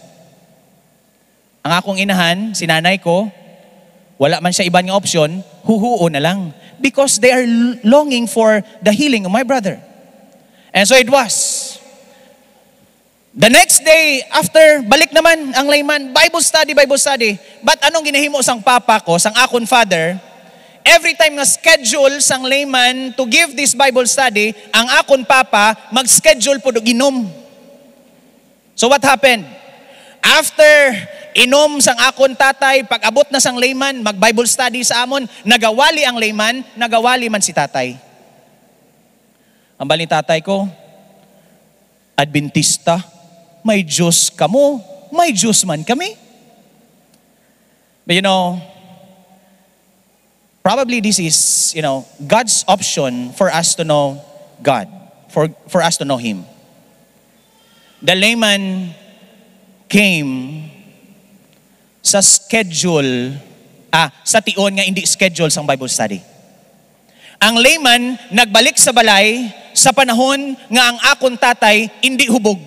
Ang akong inahan, si nanay ko, wala man siya iban nga opsyon, huhuo na lang. Because they are l- longing for the healing of my brother. And so it was. The next day, after, balik naman ang layman, "Bible study, Bible study." But anong ginahimo sang papa ko, sang akon father? Every time nga schedule sang layman to give this Bible study, ang akon papa mag-schedule pud og inom. So what happened? After inom sang akon tatay, pag-abot na sang layman, mag-Bible study sa amon, nagawali ang layman, nagawali man si tatay. Ang bali tatay ko, "Adventista, may Diyos kamo, may Diyos man kami." But you know, probably this is, you know, God's option for us to know God, for, for us to know Him. The layman came sa schedule, ah, sa tion nga hindi schedule sang Bible study. Ang layman nagbalik sa balay sa panahon nga ang akon tatay hindi hubog.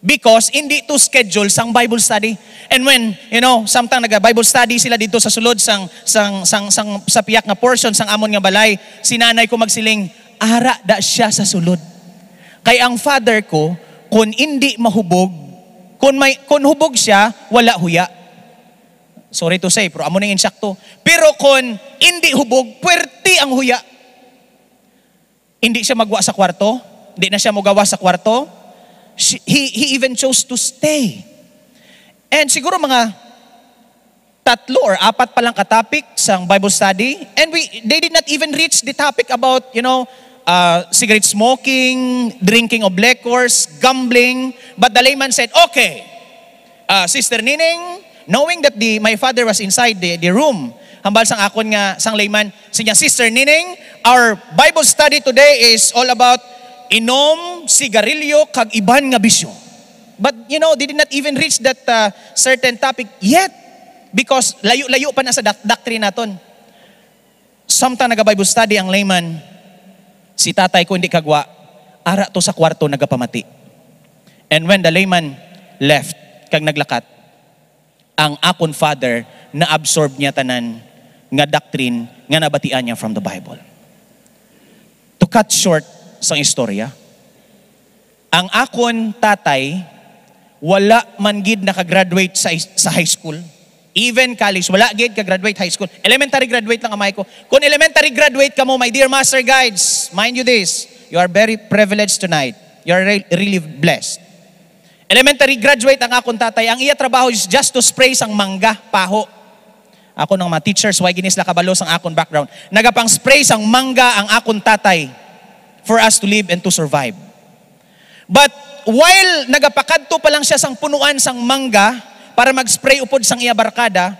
Because hindi to schedule sang Bible study. And when, you know, samtang naga-Bible study sila dito sa sulod sang, sang, sang, sang, sa piyak nga portion sang amon nga balay, si nanay ko magsiling, "Ara da siya sa sulod." Kay ang father ko, kun hindi mahubog, kun may, kun hubog siya, wala huya. Sorry to say, pero amo ning insakto. Pero kun hindi hubog, puwerte ang huya. Hindi siya magwa sa kwarto, hindi na siya mogawas sa kwarto. She, he, he even chose to stay. And siguro mga tatlo or apat pa lang ka topic sang Bible study. And we, they did not even reach the topic about, you know, uh, cigarette smoking, drinking of liquors, gambling. But the layman said, "Okay, uh, Sister Nining, knowing that the, my father was inside the, the room," hambal sang akon nga, sang layman, siya, "Sister Nining, our Bible study today is all about inom, sigarilyo, kag iban nga bisyo." But, you know, they did not even reach that uh, certain topic yet. Because layo-layo pa na sa doc- doctrine naton. Samtang naga-Bible study ang layman, si tatay ko hindi kagwa, ara to sa kwarto nagapamati. And when the layman left, kag naglakat, ang akon father na-absorb niya tanan nga doctrine nga nabatian niya from the Bible. To cut short sang istorya, ang akon tatay wala man gid naka-graduate sa, sa high school. Even college, wala gid ka-graduate high school. Elementary graduate lang amay ko. Kung elementary graduate ka mo, my dear master guides, mind you this, you are very privileged tonight. You are re- really blessed. Elementary graduate ang akon tatay. Ang iya trabaho is just to spray sang mangga, paho. Ako ng mga teachers, why gini sila kabalo sang akon background? Nagapang-spray sang mangga ang akon tatay for us to live and to survive. But while nagapakadto pa lang siya sang punuan sang mangga para mag-spray upod sang iya barkada,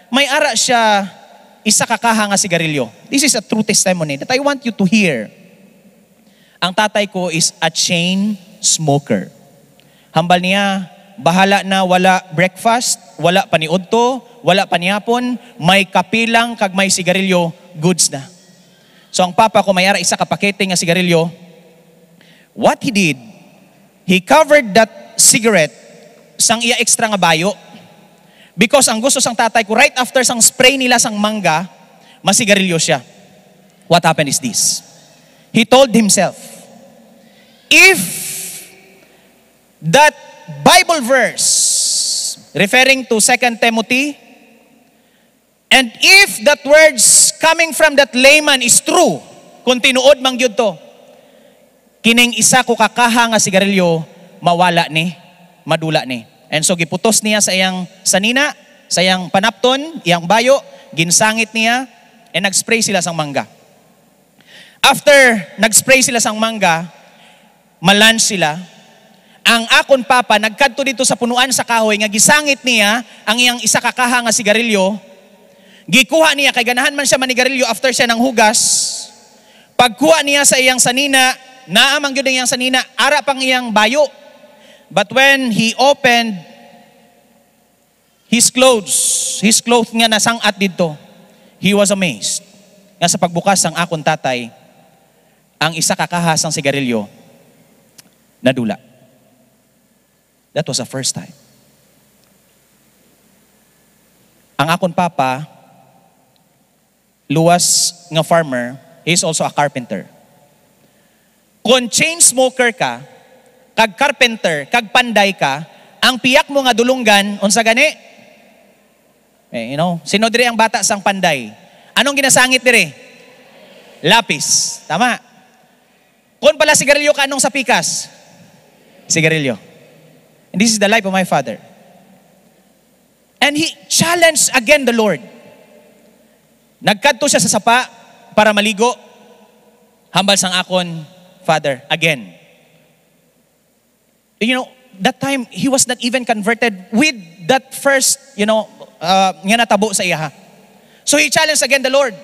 may ara siya isa ka kaha nga sigarilyo. This is a true testimony that I want you to hear. Ang tatay ko is a chain smoker. Hambal niya, bahala na, wala breakfast, wala paniudto, wala panihapon, may kape lang kag may sigarilyo, goods na. So ang papa ko may ara isa ka pakete nga sigarilyo. What he did, he covered that cigarette sang iya extra nga bayo. Because ang gusto sang tatay ko, right after sang spray nila sang mangga, masigarilyo siya. What happened is this. He told himself, "If that Bible verse referring to Second Timothy, and if that words coming from that layman is true, kung tinuod man gyud to, kining isa ko ka kaha nga sigarilyo mawala ni, madula ni." And so giputos niya sa iyang sanina, sa iyang panapton, iyang bayo, ginsangit niya, and nag-spray sila sang mangga. After nag-spray sila sang mangga, ma-lunch sila. Ang akon papa nagkadto dito sa punuan sa kahoy nga gisangit niya ang iyang isa ka kaha nga sigarilyo. Gikuha niya, kay ganahan man siya manigarilyo after siya nang hugas. Pagkuha niya sa iyang sanina, naa man gyud ang iyang sanina, ara pang iyang bayo. But when he opened his clothes, his clothes nga nasang-at didto, he was amazed nga sa pagbukas sang akon tatay, ang isa ka kaha sang sigarilyo nadula. That was the first time. Ang akon papa, luwas nga farmer, he is also a carpenter. Kon chain smoker ka, kag carpenter, kag panday ka, ang piyak mo nga dulonggan, unsa gani? Eh, you know, sino diri ang bata sang panday? Anong ginasangit diri? Lapis. Tama. Kon pala sigarilyo ka, anong sa pikas? Sigarilyo. And this is the life of my father. And he challenged again the Lord. Nagkadto siya sa sapa para maligo, hambal sang akon father again. You know, that time, he was not even converted with that first, you know, uh, nga natabo sa iyaha. So he challenged again the Lord.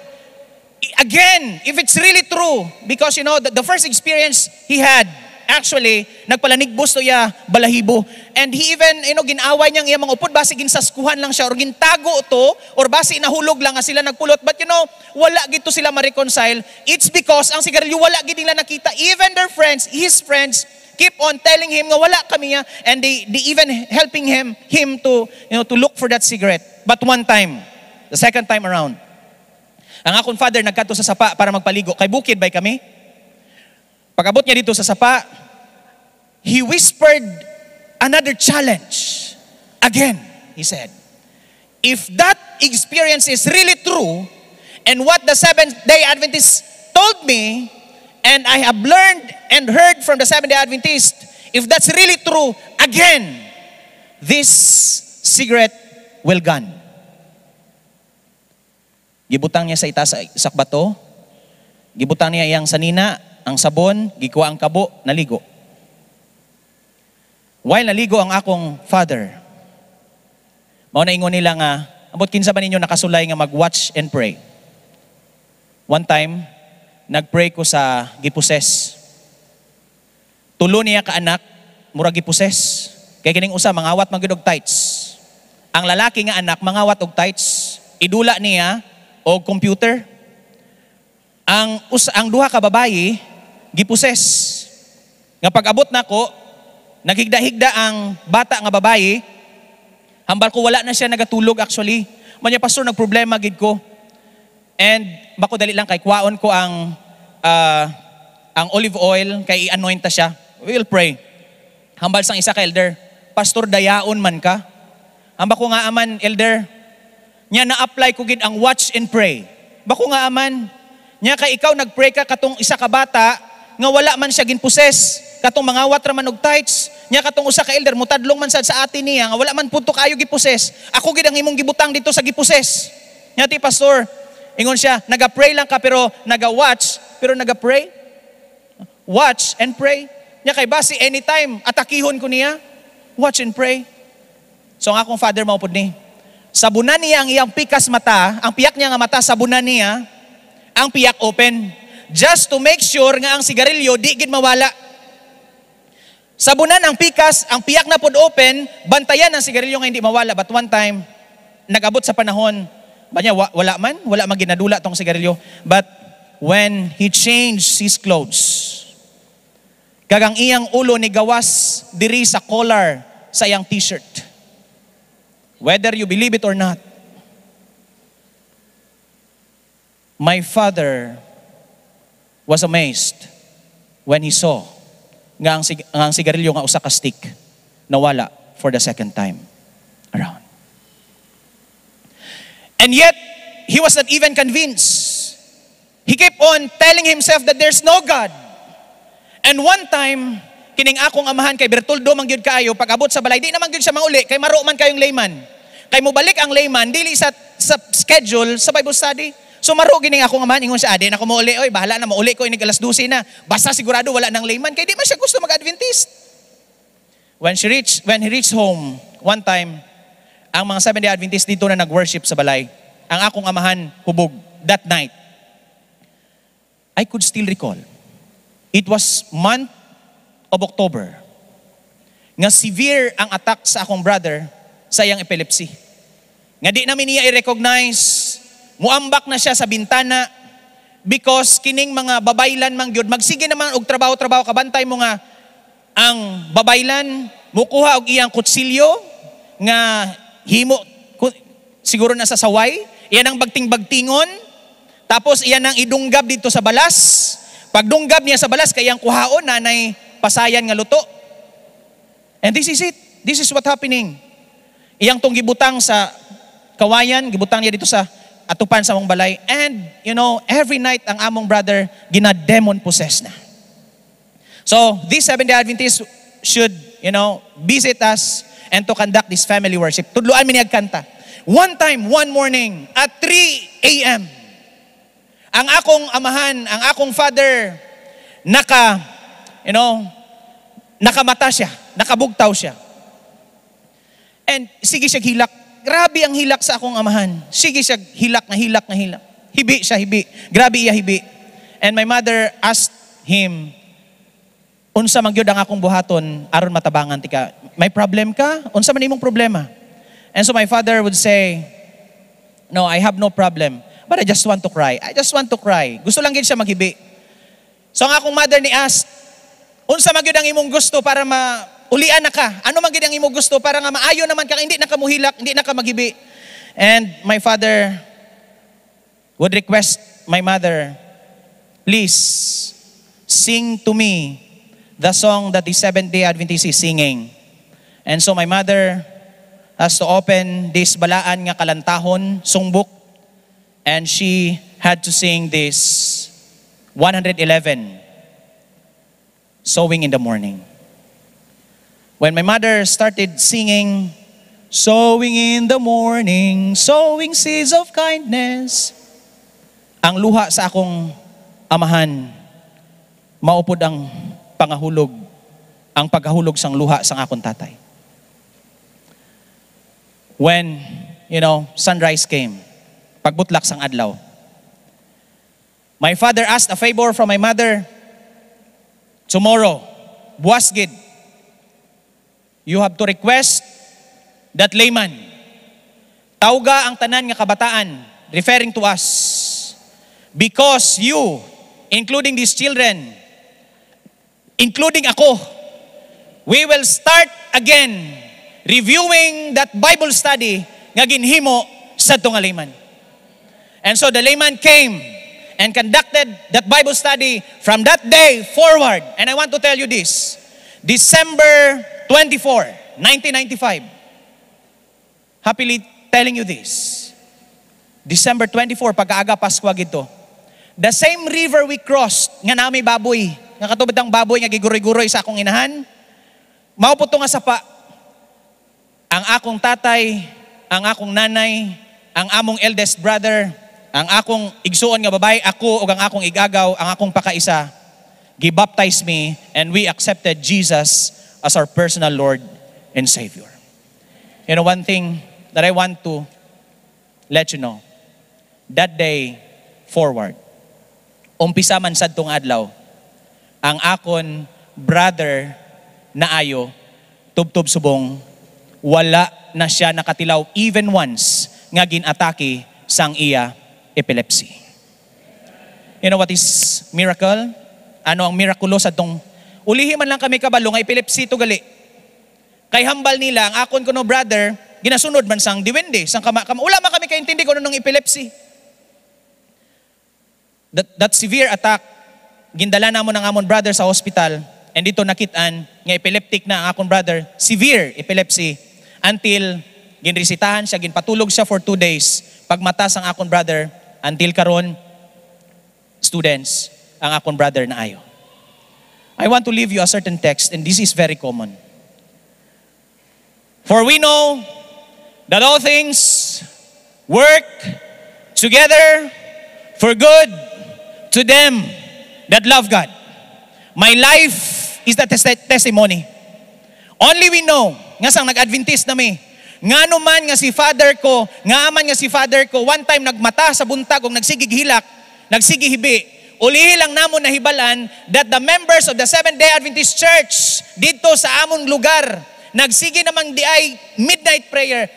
I-, again, if it's really true, because, you know, the, the first experience he had, actually, nagpalanigbos to iya balahibo. And he even, you know, gin-away niya ang iya mga upod, basi ginsaskuhan lang siya, or gintago to, or basi nahulog lang nga sila nagpulot. But, you know, wala gid to sila ma-reconcile. It's because ang sigarilyo wala gid nila nakita. Even their friends, his friends, keep on telling him nga wala kami niya, and they, they even helping him, him to, you know, to look for that cigarette. But one time, the second time around, ang akon father nagkadto sa sapa para magpaligo, kay bukid bay kami. Pag-abot niya dito sa sapa, he whispered another challenge. Again, he said, "If that experience is really true, and what the Seventh-day Adventists told me, and I have learned and heard from the Seventh-day Adventist, if that's really true, again, this cigarette will gone." Gibutang niya sa itaas sa, sa bato. Gibutang niya iyang sanina, ang sabon, gikuha ang kabo, naligo. While naligo ang akong father, mao na ingon nila nga, "Ambot kinsa ba ninyo nakasulay nga mag-watch and pray?" One time, nag-pray ko sa giposes. Tulo niya ka anak, murag giposes. Kay kining usa, mangawat man gyud og tights. Ang lalaki nga anak, mangawat og tights. Idula niya og computer. Ang us-, ang duha ka babayi, giposes. Nga pag-abot nako, naghigda-higda ang bata nga babayi. Hambal ko, wala na siya nagatulog actually. Mao niya, "Pastor, nagproblema gid ko." And bako dali lang kay kwaon ko ang, ah, ang olive oil kay i-anoint ta siya. We'll pray. Hambal sang isa ka elder, "Pastor, dayaon man ka." Hambal ko, "Ngaa man, elder?" Nya na-apply ko gid ang watch and pray. Bako, "Ngaa man?" Nya kay ikaw nag-pray ka katong isa ka bata nga wala man siya ginposes, katong mangawat ra man og tights, nya katong usa ka elder mutadlong man sad sa ate niya nga wala man pudto kaayo giposes. Ako gid ang imong gibutang dito sa giposes. Nya ti, "Pastor," ingon siya, "naga-pray lang ka pero naga-watch, pero naga-pray? Watch and pray." Nya kay basi anytime atakihon ko niya. Watch and pray. So ang akong father mao pud ni. Sabunan niya ang iyang pikas mata, ang piyak niya nga mata, sabunan niya ang piyak open. Just to make sure nga ang sigarilyo di gid mawala. Sabunan ang pikas, ang piyak na pod open, bantayan ang sigarilyo nga hindi mawala. But one time, nag-abot sa panahon, ba niya, wa-, wala man, wala man ginadula tong sigarilyo. But when he changed his clothes, kag ang iyang ulo ni gawas diri sa collar sa iyang t-shirt. Whether you believe it or not, my father was amazed when he saw nga ang, sig- nga ang sigarilyo nga usa ka stick nawala for the second time around. And yet, he was not even convinced. He kept on telling himself that there's no God. And one time, kining akong amahan kay Bertoldo man gyud kaayo, pag-abot sa balay, di naman gyud siya mauli, kay maro man kayong layman. Kay mubalik ang layman, dili sa, sa schedule sa Bible study. So maro gining akong amahan, ingon siya, "Ah, di na ko mauli, oy, bahala na, mauli ko inig alas dose na. Basta sigurado wala nang layman," kay di man siya gusto mag-Adventist. When she reached, when he reached home, one time, ang mga Seventh-day Adventist dito na nag-worship sa balay. Ang akong amahan hubog that night. I could still recall. It was month of October nga severe ang attack sa akong brother sa iyang epilepsy. Nga di namin niya i-recognize, muambak na siya sa bintana because kining mga babaylan man gyud, magsige naman og trabaho-trabaho, kabantay mo nga ang babaylan mukuha og iyang kutsilyo nga himo ku-, siguro na sa saway, iya nang bagting-bagtingon, tapos iya nang idunggab dito sa balas. Pagdunggab niya sa balas, kay iyang kuhaon na nay pasayan nga luto. And this is it. This is what happening. Iyang tong gibutang sa kawayan, gibutang niya dito sa atupan sa among balay. And, you know, every night ang among brother gina-demon possess na. So, these Seventh-day Adventists should, you know, visit us and to conduct this family worship. Tudloan mi niya kanta. One time, one morning, at three a m, ang akong amahan, ang akong father, naka, you know, nakamata siya, nakabugtaw siya. And sige siya hilak. Grabe ang hilak sa akong amahan. Sige siya hilak nga hilak nga hilak. Hibi siya, hibi. Grabe iya hibi. And my mother asked him, "Unsa man gyud ang akong buhaton aron matabangan ti ka? May problem ka? Unsa man imong problema?" And so my father would say, "No, I have no problem. But I just want to cry. I just want to cry." Gusto lang gid siya maghibi. So ang akong mother ni ask, "Unsa man gyud ang imong gusto para ma-, ulian na ka? Ano man gyud ang imong gusto para nga maayo naman ka, hindi na ka muhilak, hindi na ka maghibi?" And my father would request my mother, "Please, sing to me the song that the Seventh-day Adventist is singing." And so my mother has to open this balaan nga kalantahon, songbook, and she had to sing this one hundred eleven, "Sowing in the Morning." When my mother started singing, "Sowing in the morning, sowing seeds of kindness," ang luha sa akong amahan, mao pod ang pangahulog, ang pagkahulog sang luha sang akong tatay. When, you know, sunrise came, pagbutlak sang adlaw, my father asked a favor from my mother, "Tomorrow, buwas gid, you have to request that layman. Tawga ang tanan nga kabataan," referring to us, "because you, including these children, including ako, we will start again reviewing that Bible study nga ginhimo sa tunga layman." And so the layman came and conducted that Bible study from that day forward. And I want to tell you this, December twenty-four, nineteen ninety-five, happily telling you this, December twenty-four, pagkaaga Paskwa gid to. The same river we crossed, nga nami baboy, nga katubad ang baboy nga giguroy-guroy sa akong inahan, mao po to nga sapa. Ang akong tatay, ang akong nanay, ang among eldest brother, ang akong igsuon nga babayi, ako, ug ang akong ig-agaw, ang akong pakaisa, gibaptize mi, and we accepted Jesus as our personal Lord and Savior. You know, one thing that I want to let you know, that day forward, umpisa man sadtong adlaw, ang akon brother naayo, tubtob subong, wala na siya nakatilaw even once nga gin-atake sang iya epilepsy. You know what is miracle? Ano ang mirakulo sadtong, ulihi man lang kami kabalo nga epilepsy to gali. Kay hambal nila, ang akon kuno brother, ginasunod man sang diwende, sang kama, kama, wala man kami kaintindi kung ano nang epilepsy. That, that severe attack, gindala namon ang amon brother sa hospital, and dito nakit-an nga epileptic na ang akon brother, severe epilepsy, until ginresitahan siya, ginpatulog siya for two days, pagmata sang akon brother, until karon, students, ang akon brother naayo. I want to leave you a certain text, and this is very common. For we know that all things work together for good to them that love God. My life is the tes-, testimony. Only we know nga sang nag-Adventist na mi, ngano man nga si father ko, nga man nga si father ko, one time nagmata sa buntag ug nagsigig hilak, nagsigig hibi. Ulihi lang namon nahibal-an that the members of the Seventh-day Adventist Church dito sa amon lugar, nagsigi naman di ay midnight prayer.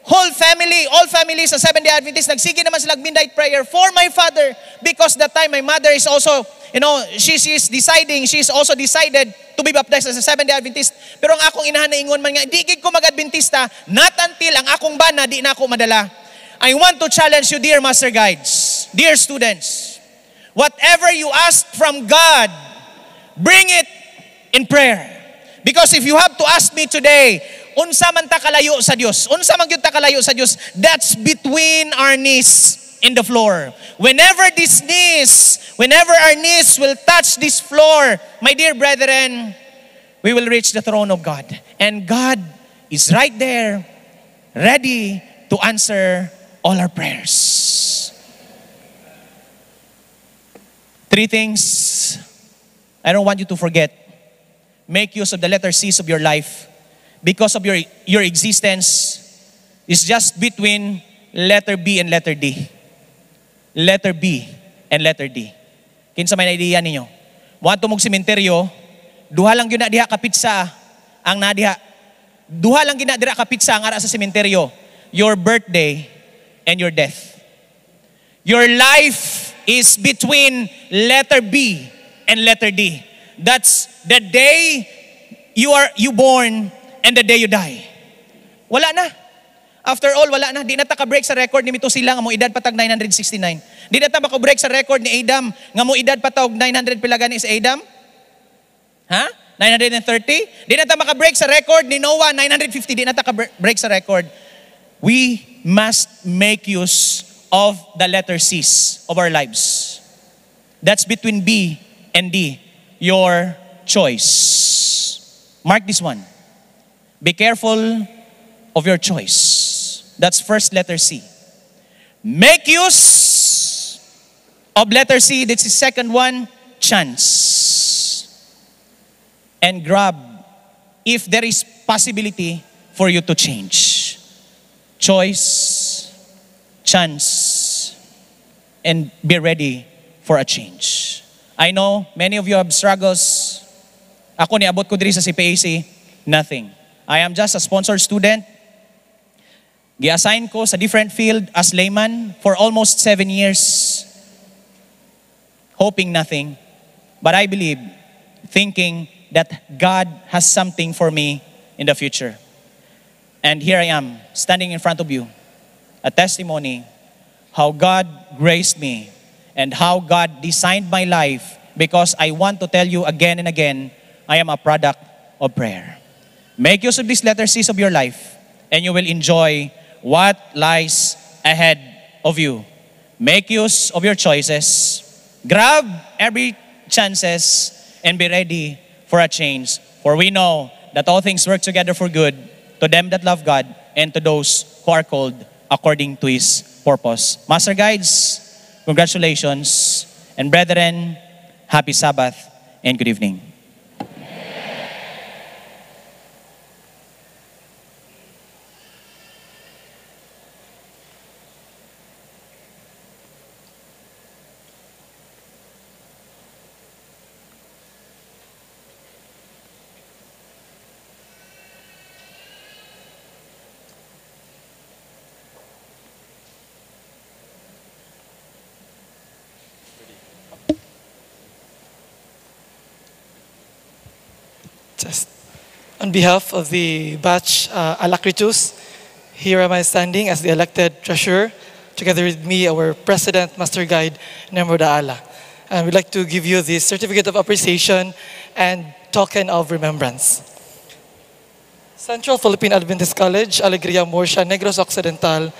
Whole family, all family sa Seventh-day Adventist, nagsigi naman sila midnight prayer for my father, because that time my mother is also, you know, she, she is deciding, she is also decided to be baptized as a Seventh-day Adventist. Pero ang akong inahan naingon man nga, "Di gid ko mag-Adventista, not until ang akong bana di na ako madala." I want to challenge you, dear master guides, dear students. Whatever you ask from God, bring it in prayer. Because if you have to ask me today, unsa man ta kalayo sa Dios? Unsa man gyud ta kalayo sa Dios? That's between our knees in the floor. Whenever these knees, whenever our knees will touch this floor, my dear brethren, we will reach the throne of God. And God is right there, ready to answer all our prayers. Three things I don't want you to forget. Make use of the letter C's of your life, because of your, your existence is just between letter B and letter D. Letter B and letter D. Kinsa may idea ninyo? Moadto mo og sementeryo, duha lang gyud na diha ka petsa ang naa diha. Duha lang gyud na dira ka petsa ang ara sa sementeryo. Your birthday and your death. Your life is between letter B and letter D. That's the day you are, you born and the day you die. Wala na. After all, wala na. Di na ta ka-break sa record ni Methuselah nga mo-edad pa tag nine hundred sixty-nine. Di na ta maka-break sa record ni Adam nga mo-edad pa tag nine hundred pila gani si Adam? Ha? Nine hundred and thirty? Di na ta maka-break sa record ni Noah, nine hundred fifty. Di na ta ka-break sa record. We must make use of the letter C's of our lives. That's between B and D, your choice. Mark this one. Be careful of your choice. That's first letter C. Make use of letter C. That's the second one, chance. And grab if there is possibility for you to change. Choice, chance, and be ready for a change. I know many of you have struggles. Ako, niabot ko diri sa C P A C, nothing. I am just a sponsored student. Gi-assign ko sa different field as layman for almost seven years, hoping nothing. But I believe, thinking that God has something for me in the future. And here I am, standing in front of you, a testimony how God graced me and how God designed my life, because I want to tell you again and again, I am a product of prayer. Make use of these letter C's of your life, and you will enjoy what lies ahead of you. Make use of your choices. Grab every chances and be ready for a change. For we know that all things work together for good to them that love God and to those who are called according to His purpose. Master Guides, congratulations. And brethren, happy Sabbath and good evening. On behalf of the batch, uh, Alacritus, here am I standing as the elected treasurer, together with me, our president, Master Guide Nemro Daala. And we'd like to give you the certificate of appreciation and token of remembrance. Central Philippine Adventist College, Alegria, Murcia, Negros Occidental,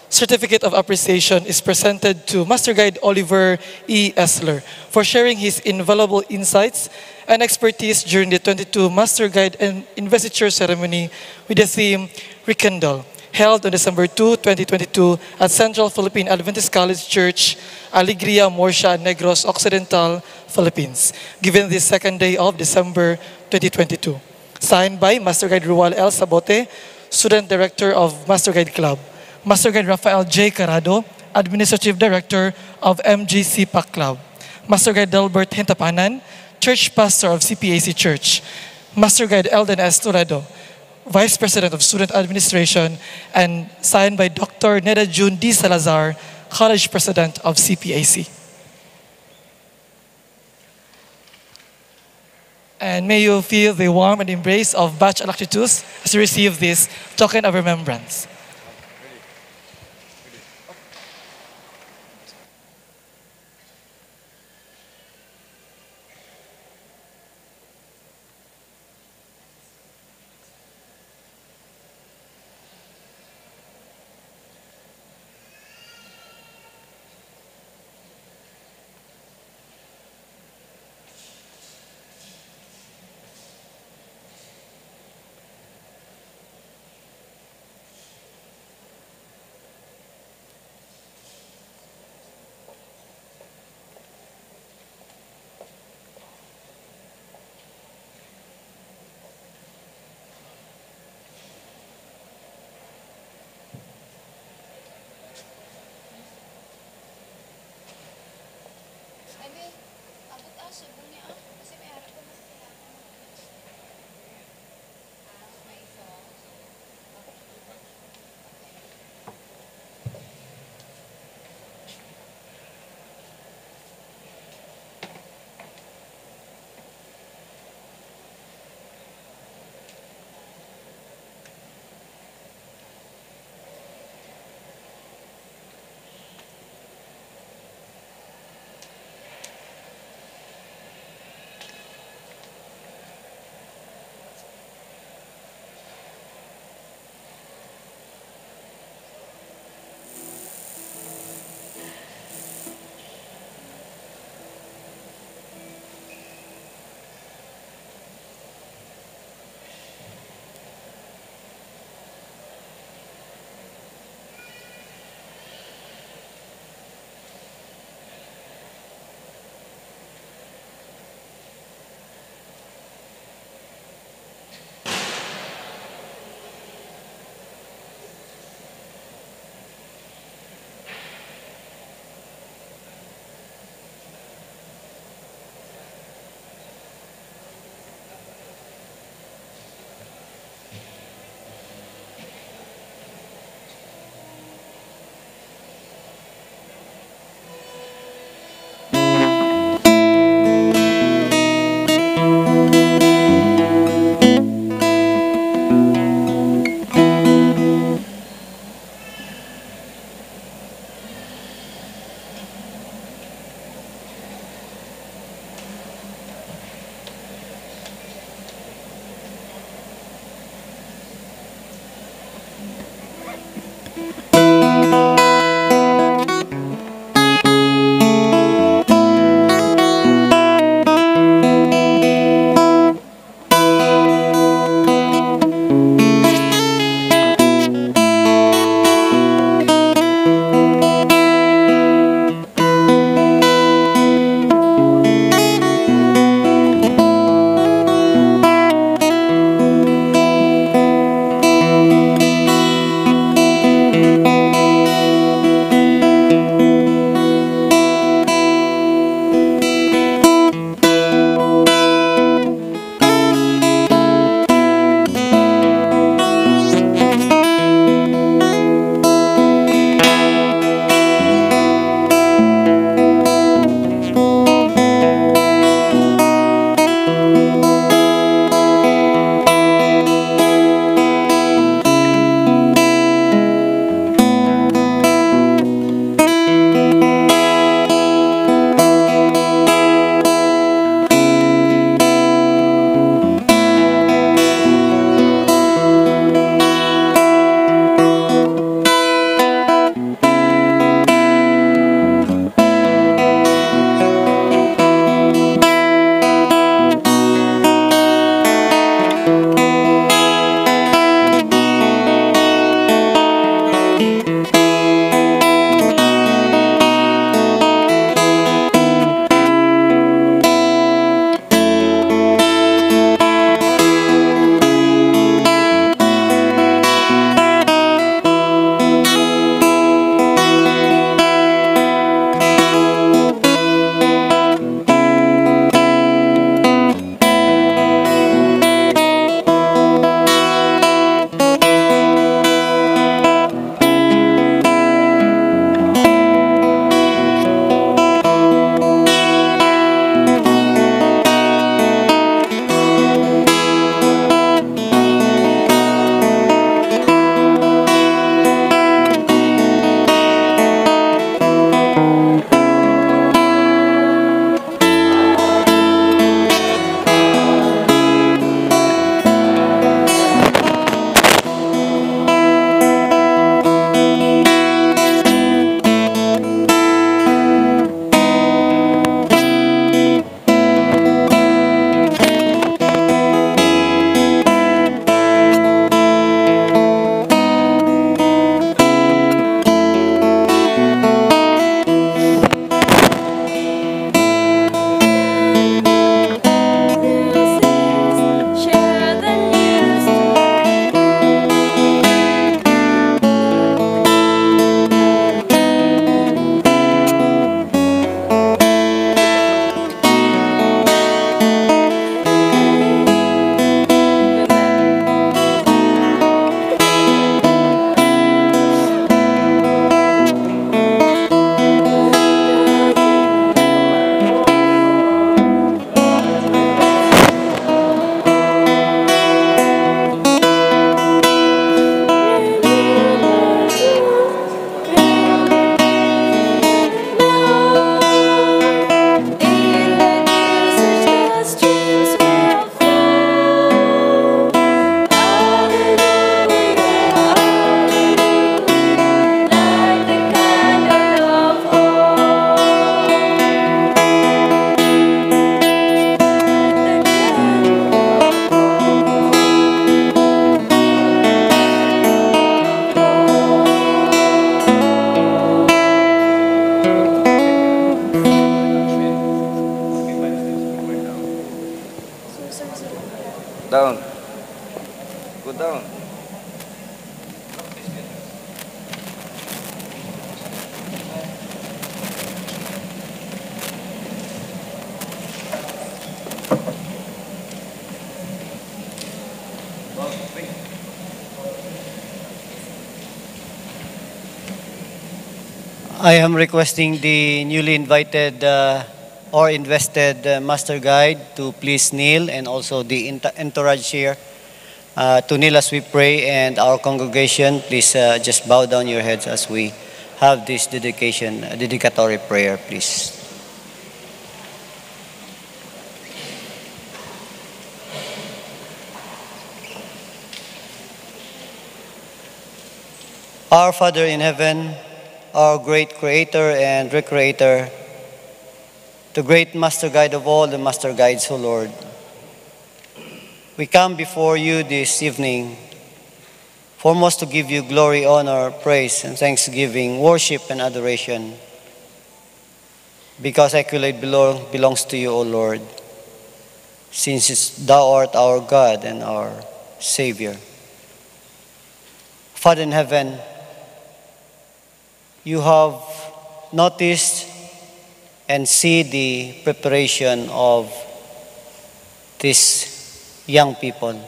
certificate of appreciation is presented to Master Guide Oliver E. Esler for sharing his invaluable insights and expertise during the twenty-two Master Guide and Investiture Ceremony with the theme Rekindle, held on December two, twenty twenty-two at Central Philippine Adventist College Church, Alegria, Murcia, Negros Occidental, Philippines, given this second day of December twenty twenty-two. Signed by Master Guide Rual L. Sabote, Student Director of Master Guide Club. Master Guide Rafael J. Carado, Administrative Director of M G C PAC Club. Master Guide Delbert Hintapanan, Church Pastor of C P A C Church. Master Guide Eldon S. Toledo, Vice President of Student Administration, and signed by Doctor Neda June D. Salazar, College President of C P A C. And may you feel the warmth and embrace of Batch Alacritus as you receive this token of remembrance. Down. Go down. I am requesting the newly invited, uh, or invested, uh, master guide to please kneel, and also the ent-, entourage here, uh, to kneel as we pray, and our congregation, please, uh, just bow down your heads as we have this dedication, uh, dedicatory prayer, please. Our Father in heaven, our great creator and recreator, the great master guide of all the master guides, O Lord, we come before you this evening, foremost to give you glory, honor, praise, and thanksgiving, worship, and adoration, because accolade belong, belongs to you, O Lord, since it's, thou art our God and our Savior. Father in heaven, you have noticed and see the preparation of these young people,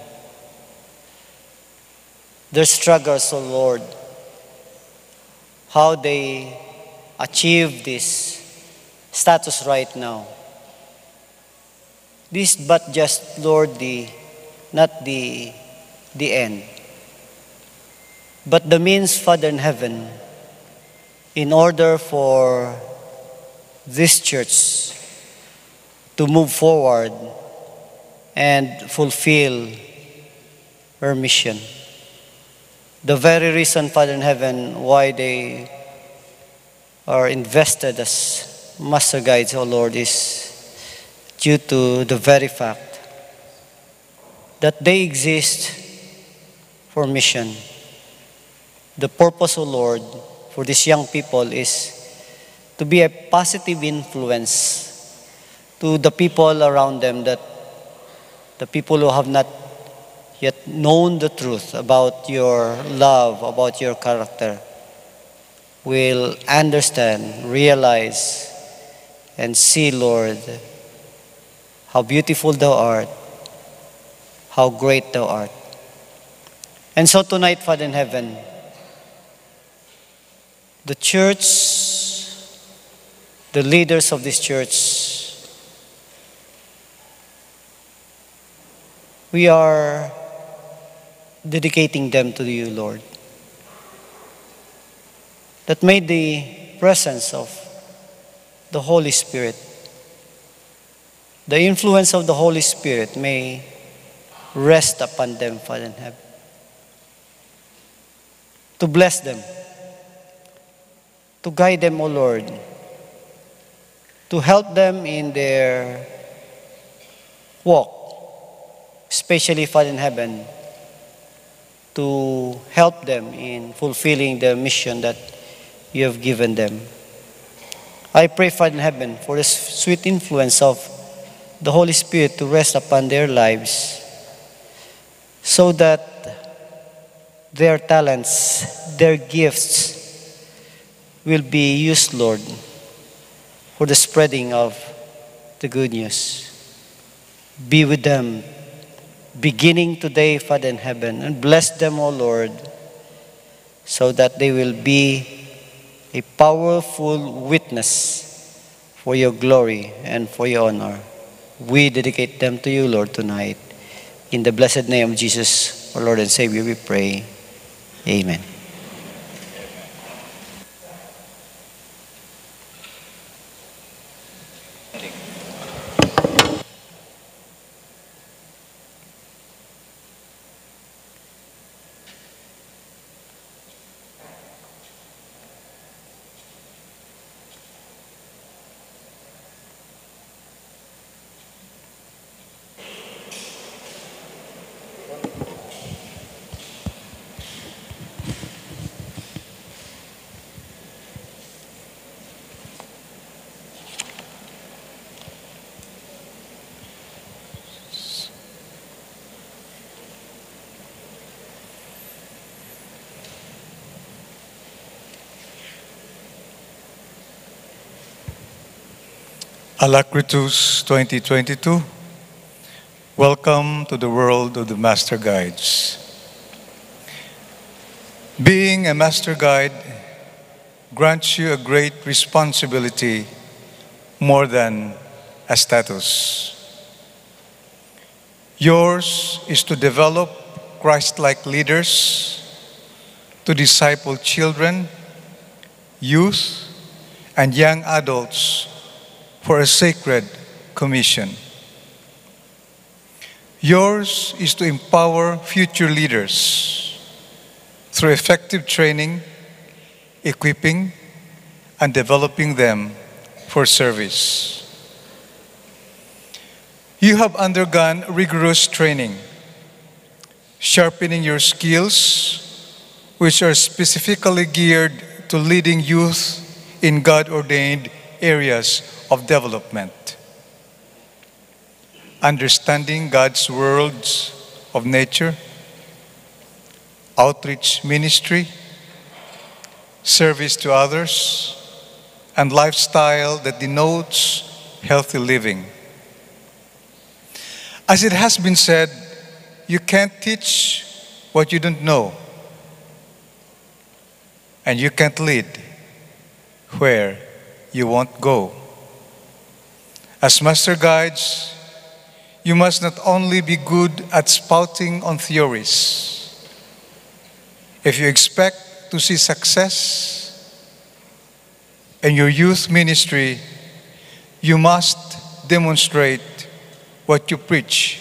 their struggles, O Lord, how they achieve this status right now. This but just, Lord, the, not the, the end, but the means, Father in heaven, in order for this church to move forward and fulfill her mission. The very reason, Father in heaven, why they are invested as master guides, O Lord, is due to the very fact that they exist for mission. The purpose, O Lord, for these young people is to be a positive influence to the people around them, that the people who have not yet known the truth about your love, about your character, will understand, realize, and see, Lord, how beautiful thou art, how great thou art. And so tonight, Father in heaven, the church, the leaders of this church, we are dedicating them to you, Lord. That may the presence of the Holy Spirit, the influence of the Holy Spirit may rest upon them, Father in heaven, to bless them, to guide them, O Lord, to help them in their walk, especially, Father in heaven, to help them in fulfilling the mission that you have given them. I pray, Father in heaven, for the sweet influence of the Holy Spirit to rest upon their lives, so that their talents, their gifts will be used, Lord, for the spreading of the good news. Be with them, beginning today, Father in heaven, and bless them, O Lord, so that they will be a powerful witness for your glory and for your honor. We dedicate them to you, Lord, tonight. In the blessed name of Jesus, our Lord and Savior, we pray. Amen. Alacritus twenty twenty-two. Welcome to the world of the Master Guides. Being a Master Guide grants you a great responsibility more than a status. Yours is to develop Christ-like leaders, to disciple children, youth, and young adults for a sacred commission. Yours is to empower future leaders through effective training, equipping, and developing them for service. You have undergone rigorous training, sharpening your skills, which are specifically geared to leading youth in God-ordained areas of development. Understanding God's worlds of nature, outreach ministry, service to others, and lifestyle that denotes healthy living. As it has been said, you can't teach what you don't know, and you can't lead where you won't go. As master guides, you must not only be good at spouting on theories. If you expect to see success in your youth ministry, you must demonstrate what you preach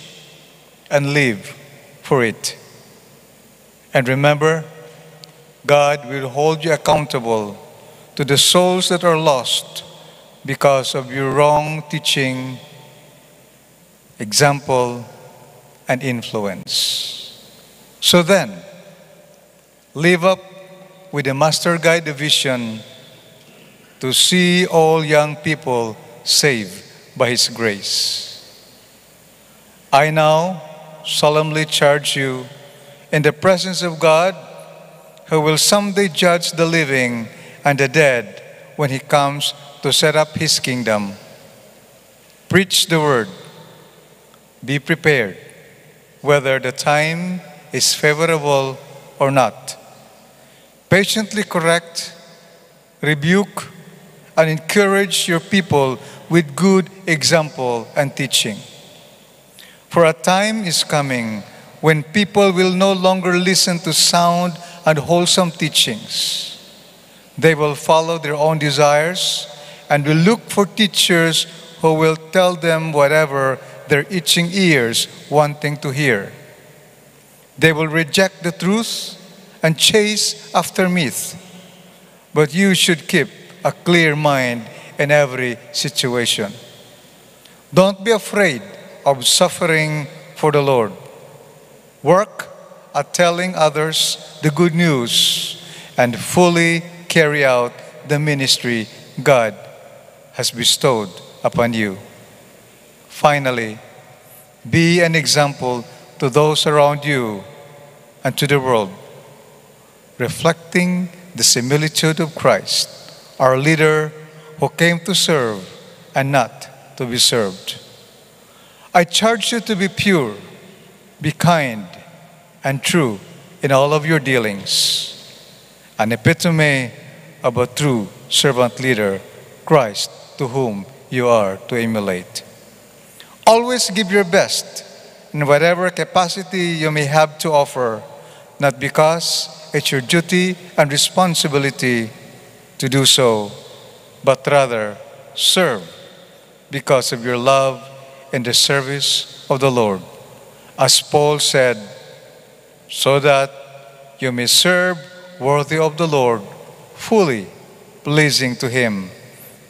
and live for it. And remember, God will hold you accountable to the souls that are lost because of your wrong teaching, example, and influence. So then, live up with the Master Guide vision to see all young people saved by His grace. I now solemnly charge you in the presence of God, who will someday judge the living and the dead when He comes to set up His kingdom. Preach the word. Be prepared, whether the time is favorable or not. Patiently correct, rebuke, and encourage your people with good example and teaching. For a time is coming when people will no longer listen to sound and wholesome teachings. They will follow their own desires and will look for teachers who will tell them whatever their itching ears wanting to hear. They will reject the truth and chase after myth. But you should keep a clear mind in every situation. Don't be afraid of suffering for the Lord. Work at telling others the good news and fully carry out the ministry God has bestowed upon you. Finally, be an example to those around you and to the world, reflecting the similitude of Christ, our leader, who came to serve and not to be served. I charge you to be pure, be kind, and true in all of your dealings, an epitome of a true servant leader, Christ, to whom you are to emulate. Always give your best in whatever capacity you may have to offer, not because it's your duty and responsibility to do so, but rather serve because of your love and the service of the Lord. As Paul said, "So that you may serve worthy of the Lord, fully pleasing to Him,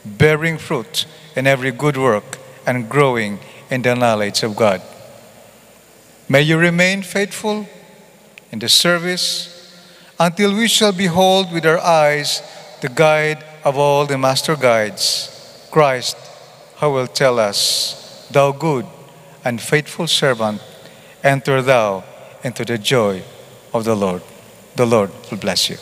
bearing fruit in every good work and growing in the knowledge of God." May you remain faithful in the service until we shall behold with our eyes the guide of all the master guides, Christ, who will tell us, "Thou good and faithful servant, enter thou into the joy of the Lord." The Lord will bless you.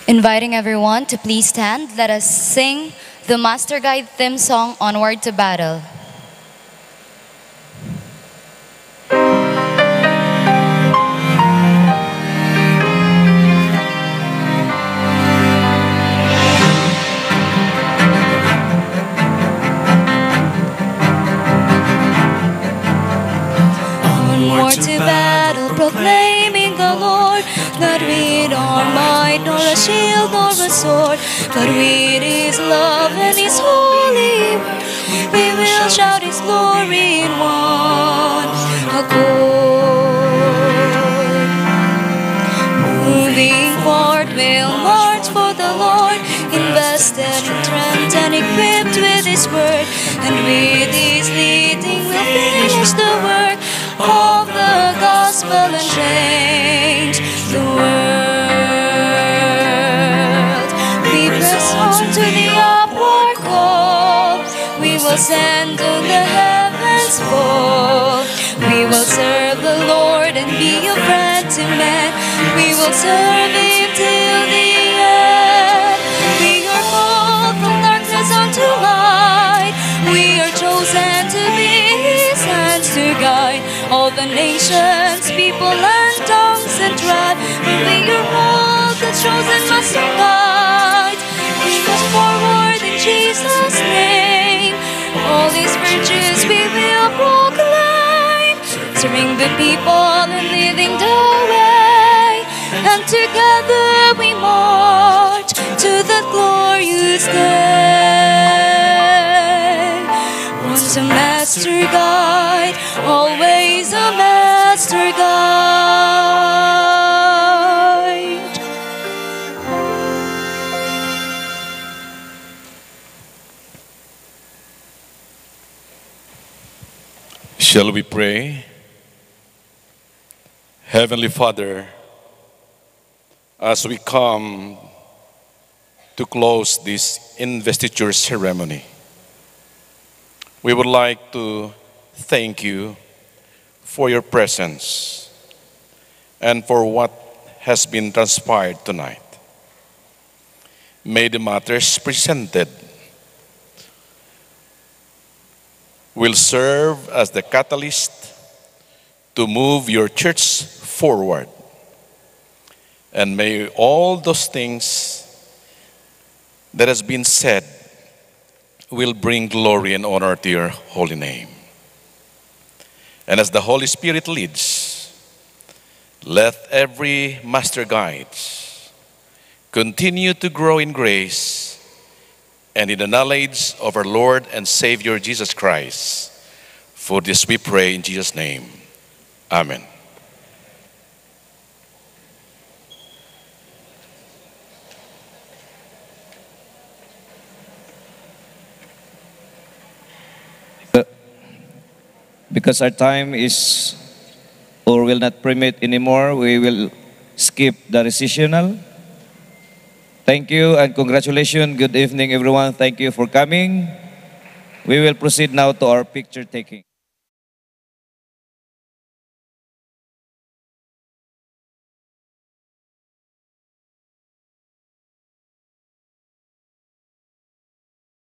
Inviting everyone to please stand, let us sing the Master Guide theme song, Onward to Battle. Onward to battle, proclaiming the Lord, not with our might nor a shield nor a sword, but with His love and His holy word. We will shout His glory in one accord. Moving forward, we'll march for the Lord, invested in strength and equipped with His word, and with His leading, we'll finish the work of the gospel and change the world. We press on to the upward call. We will send on the heavens fall. We will serve the Lord and be a friend to men. We will serve Him till the end. We are called from darkness unto light. We are chosen to be His hands to guide all the nations, people, and tongues and tribe. We are all the chosen master guide. We must forward in Jesus' name. All His virtues we will proclaim, serving the people and leading the way. And together we march to that glorious day. Once a master guide, always a master guide. Shall we pray? Heavenly Father, as we come to close this investiture ceremony, we would like to thank you for your presence and for what has been transpired tonight. May the matters presented will serve as the catalyst to move your church forward. And may all those things that has been said will bring glory and honor to your holy name. And as the Holy Spirit leads, let every master guide continue to grow in grace and in the knowledge of our Lord and Savior Jesus Christ. For this we pray in Jesus' name. Amen. Because our time is or will not permit anymore, we will skip the recessional. Thank you and congratulations. Good evening, everyone. Thank you for coming. We will proceed now to our picture taking.